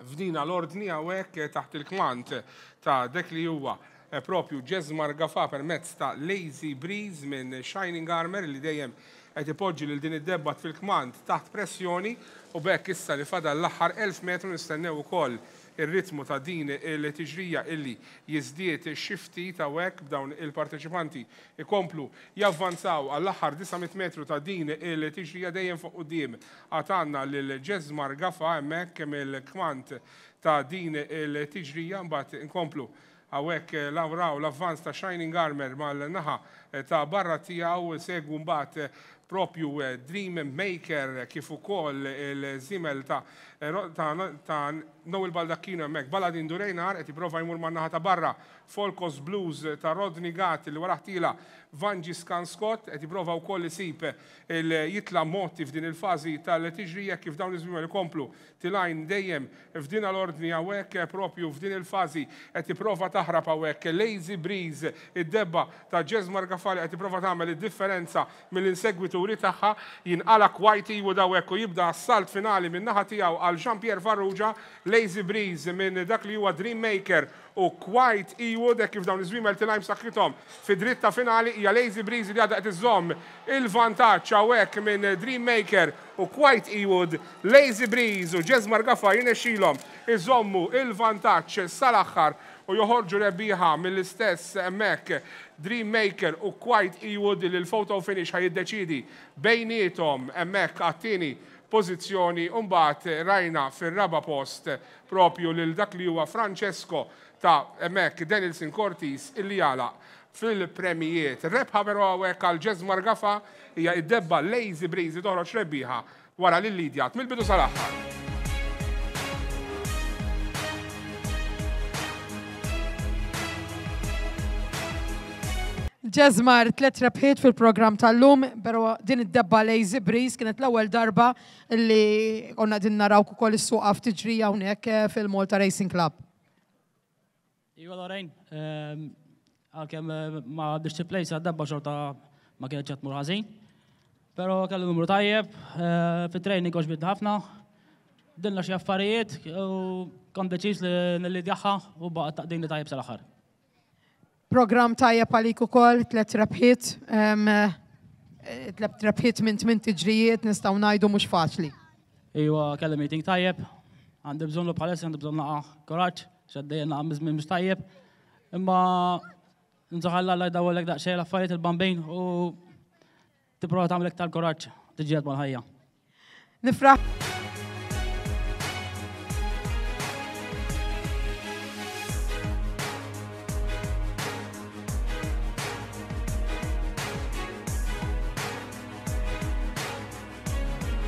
f'dina l-ordni hawnhekk taħt il-kmand ta' dak li huwa propju Jesmar Gafa permezz ta' Lazy Breeze minn Shining Armor li dejjem qed ipoġġi lil din id-debba fil-kmand taħt pressjoni, u b'hekk issa li fadal l-aħħar elf metru nistennew ukoll ir-ritmu ta' din il-tiġrija illi jiżdied xi ftit hawnhekk b'dawn il-parteċipanti ikomplu javvanzaw għall-aħħar disa' mitt metru ta' din il-tiġrija dejjem fuq quddiem. Għad għandna lil Jesmar Gafa hemmhekk mill-kmand ta' din il-tiġrija, mbagħad inkomplu hawnhekk lawraw l-avvanz ta' Shining Armor mal-naħa ta' barra tiegħu, segwu mbagħad propju Dream Maker kif ukoll il-żimel ta', ta, ta' Noel Baldacchino hemmhekk Baladin Durejnar qed jipprova jmur man-naħa ta' barra Folkos Blues ta' Rodney Gatt li wara ħtila Vangiscan Scott qed jipprova wkoll isib il-jitla motti f'din il-fażi tal-tiġrija kif dawn iż-żwiemel ikomplu tilgħin dejjem f'din l-ordni hawnhekk propju f'din il-fażi qed jipprova taħrab hawnhekk Lazy Breeze id-debba ta' Jesmar Gafa qed jipprova tagħmel id-differenza mill-insegwituri tagħha, jinqala Quiet Ewood hawnhekk u jibda assalt finali minn naħa tiegħu għal Jean-Pierre Farrugia. Lazy Breeze minn dak li huwa Dream Maker u Quiet Ewood hekk kif dawn iż-żwiemel tilgħin b'saħħithom fi dritta finali hija Lazy Breeze li għadha qed iżżomm il-vantaġġ hawnhekk minn Dream Maker u Quiet Ewood. Lazy Breeze u Jesmar Gafa jirnexxilhom iżommu il-vantaġġ sal-aħħar u joħorġu rebbieħa mill-istess hemmhekk Dream Maker u Quiet Ewood li l-photo finish ħajiddeċidi bejniethom hemmhekk għat-tieni pożizzjoni, u mbagħad rajna fir-raba' post propju lil dak li huwa Francesco ta' hemmhekk Denilson Cortis illi jagħlaq fil-premijiet. Rebħa però hawnhekk għal Jesmar Gafa hija id-debba Lazy Breeze toħroġ rebbieħa wara lil Lidjat mill-bidu sal-aħħar. Jesmar, tliet rebħiet fil-programm tal-lum, però din id-debba Lazy Breeze kienet l-ewwel darba li konna din naraw ukoll is-suqa f'tiġrija hawnhekk fil-Malta Racing Club. Iva Lorraine, għalkemm ma għaddix plejsa d-debba xorta ma kienx qed tmur ħażin, però kellu numru tajjeb, fit-training għoġbitni ħafna, dinna xi affarijiet u kont deċiż li nillidjaħħa u baqgħet taqdini tajjeb sal-aħħar. Program tajjeb għalik ukoll, tliet rebħiet, tliet rebħiet minn tmien tiġrijiet nistgħu ngħidu mhux faċli. Iva, kelli meeting tajjeb, għandi bżonnu bħalissa, għandi bżonn naqa' kuraġġ, x'għaddejja naqa' miżmien mhux tajjeb, imma nżaħalla Alla jdawwellek daqsxejn l-affarijiet il-bambin u tipprova tagħmel iktar kuraġġ tiġġieled mal-ħajja. Nifraħ.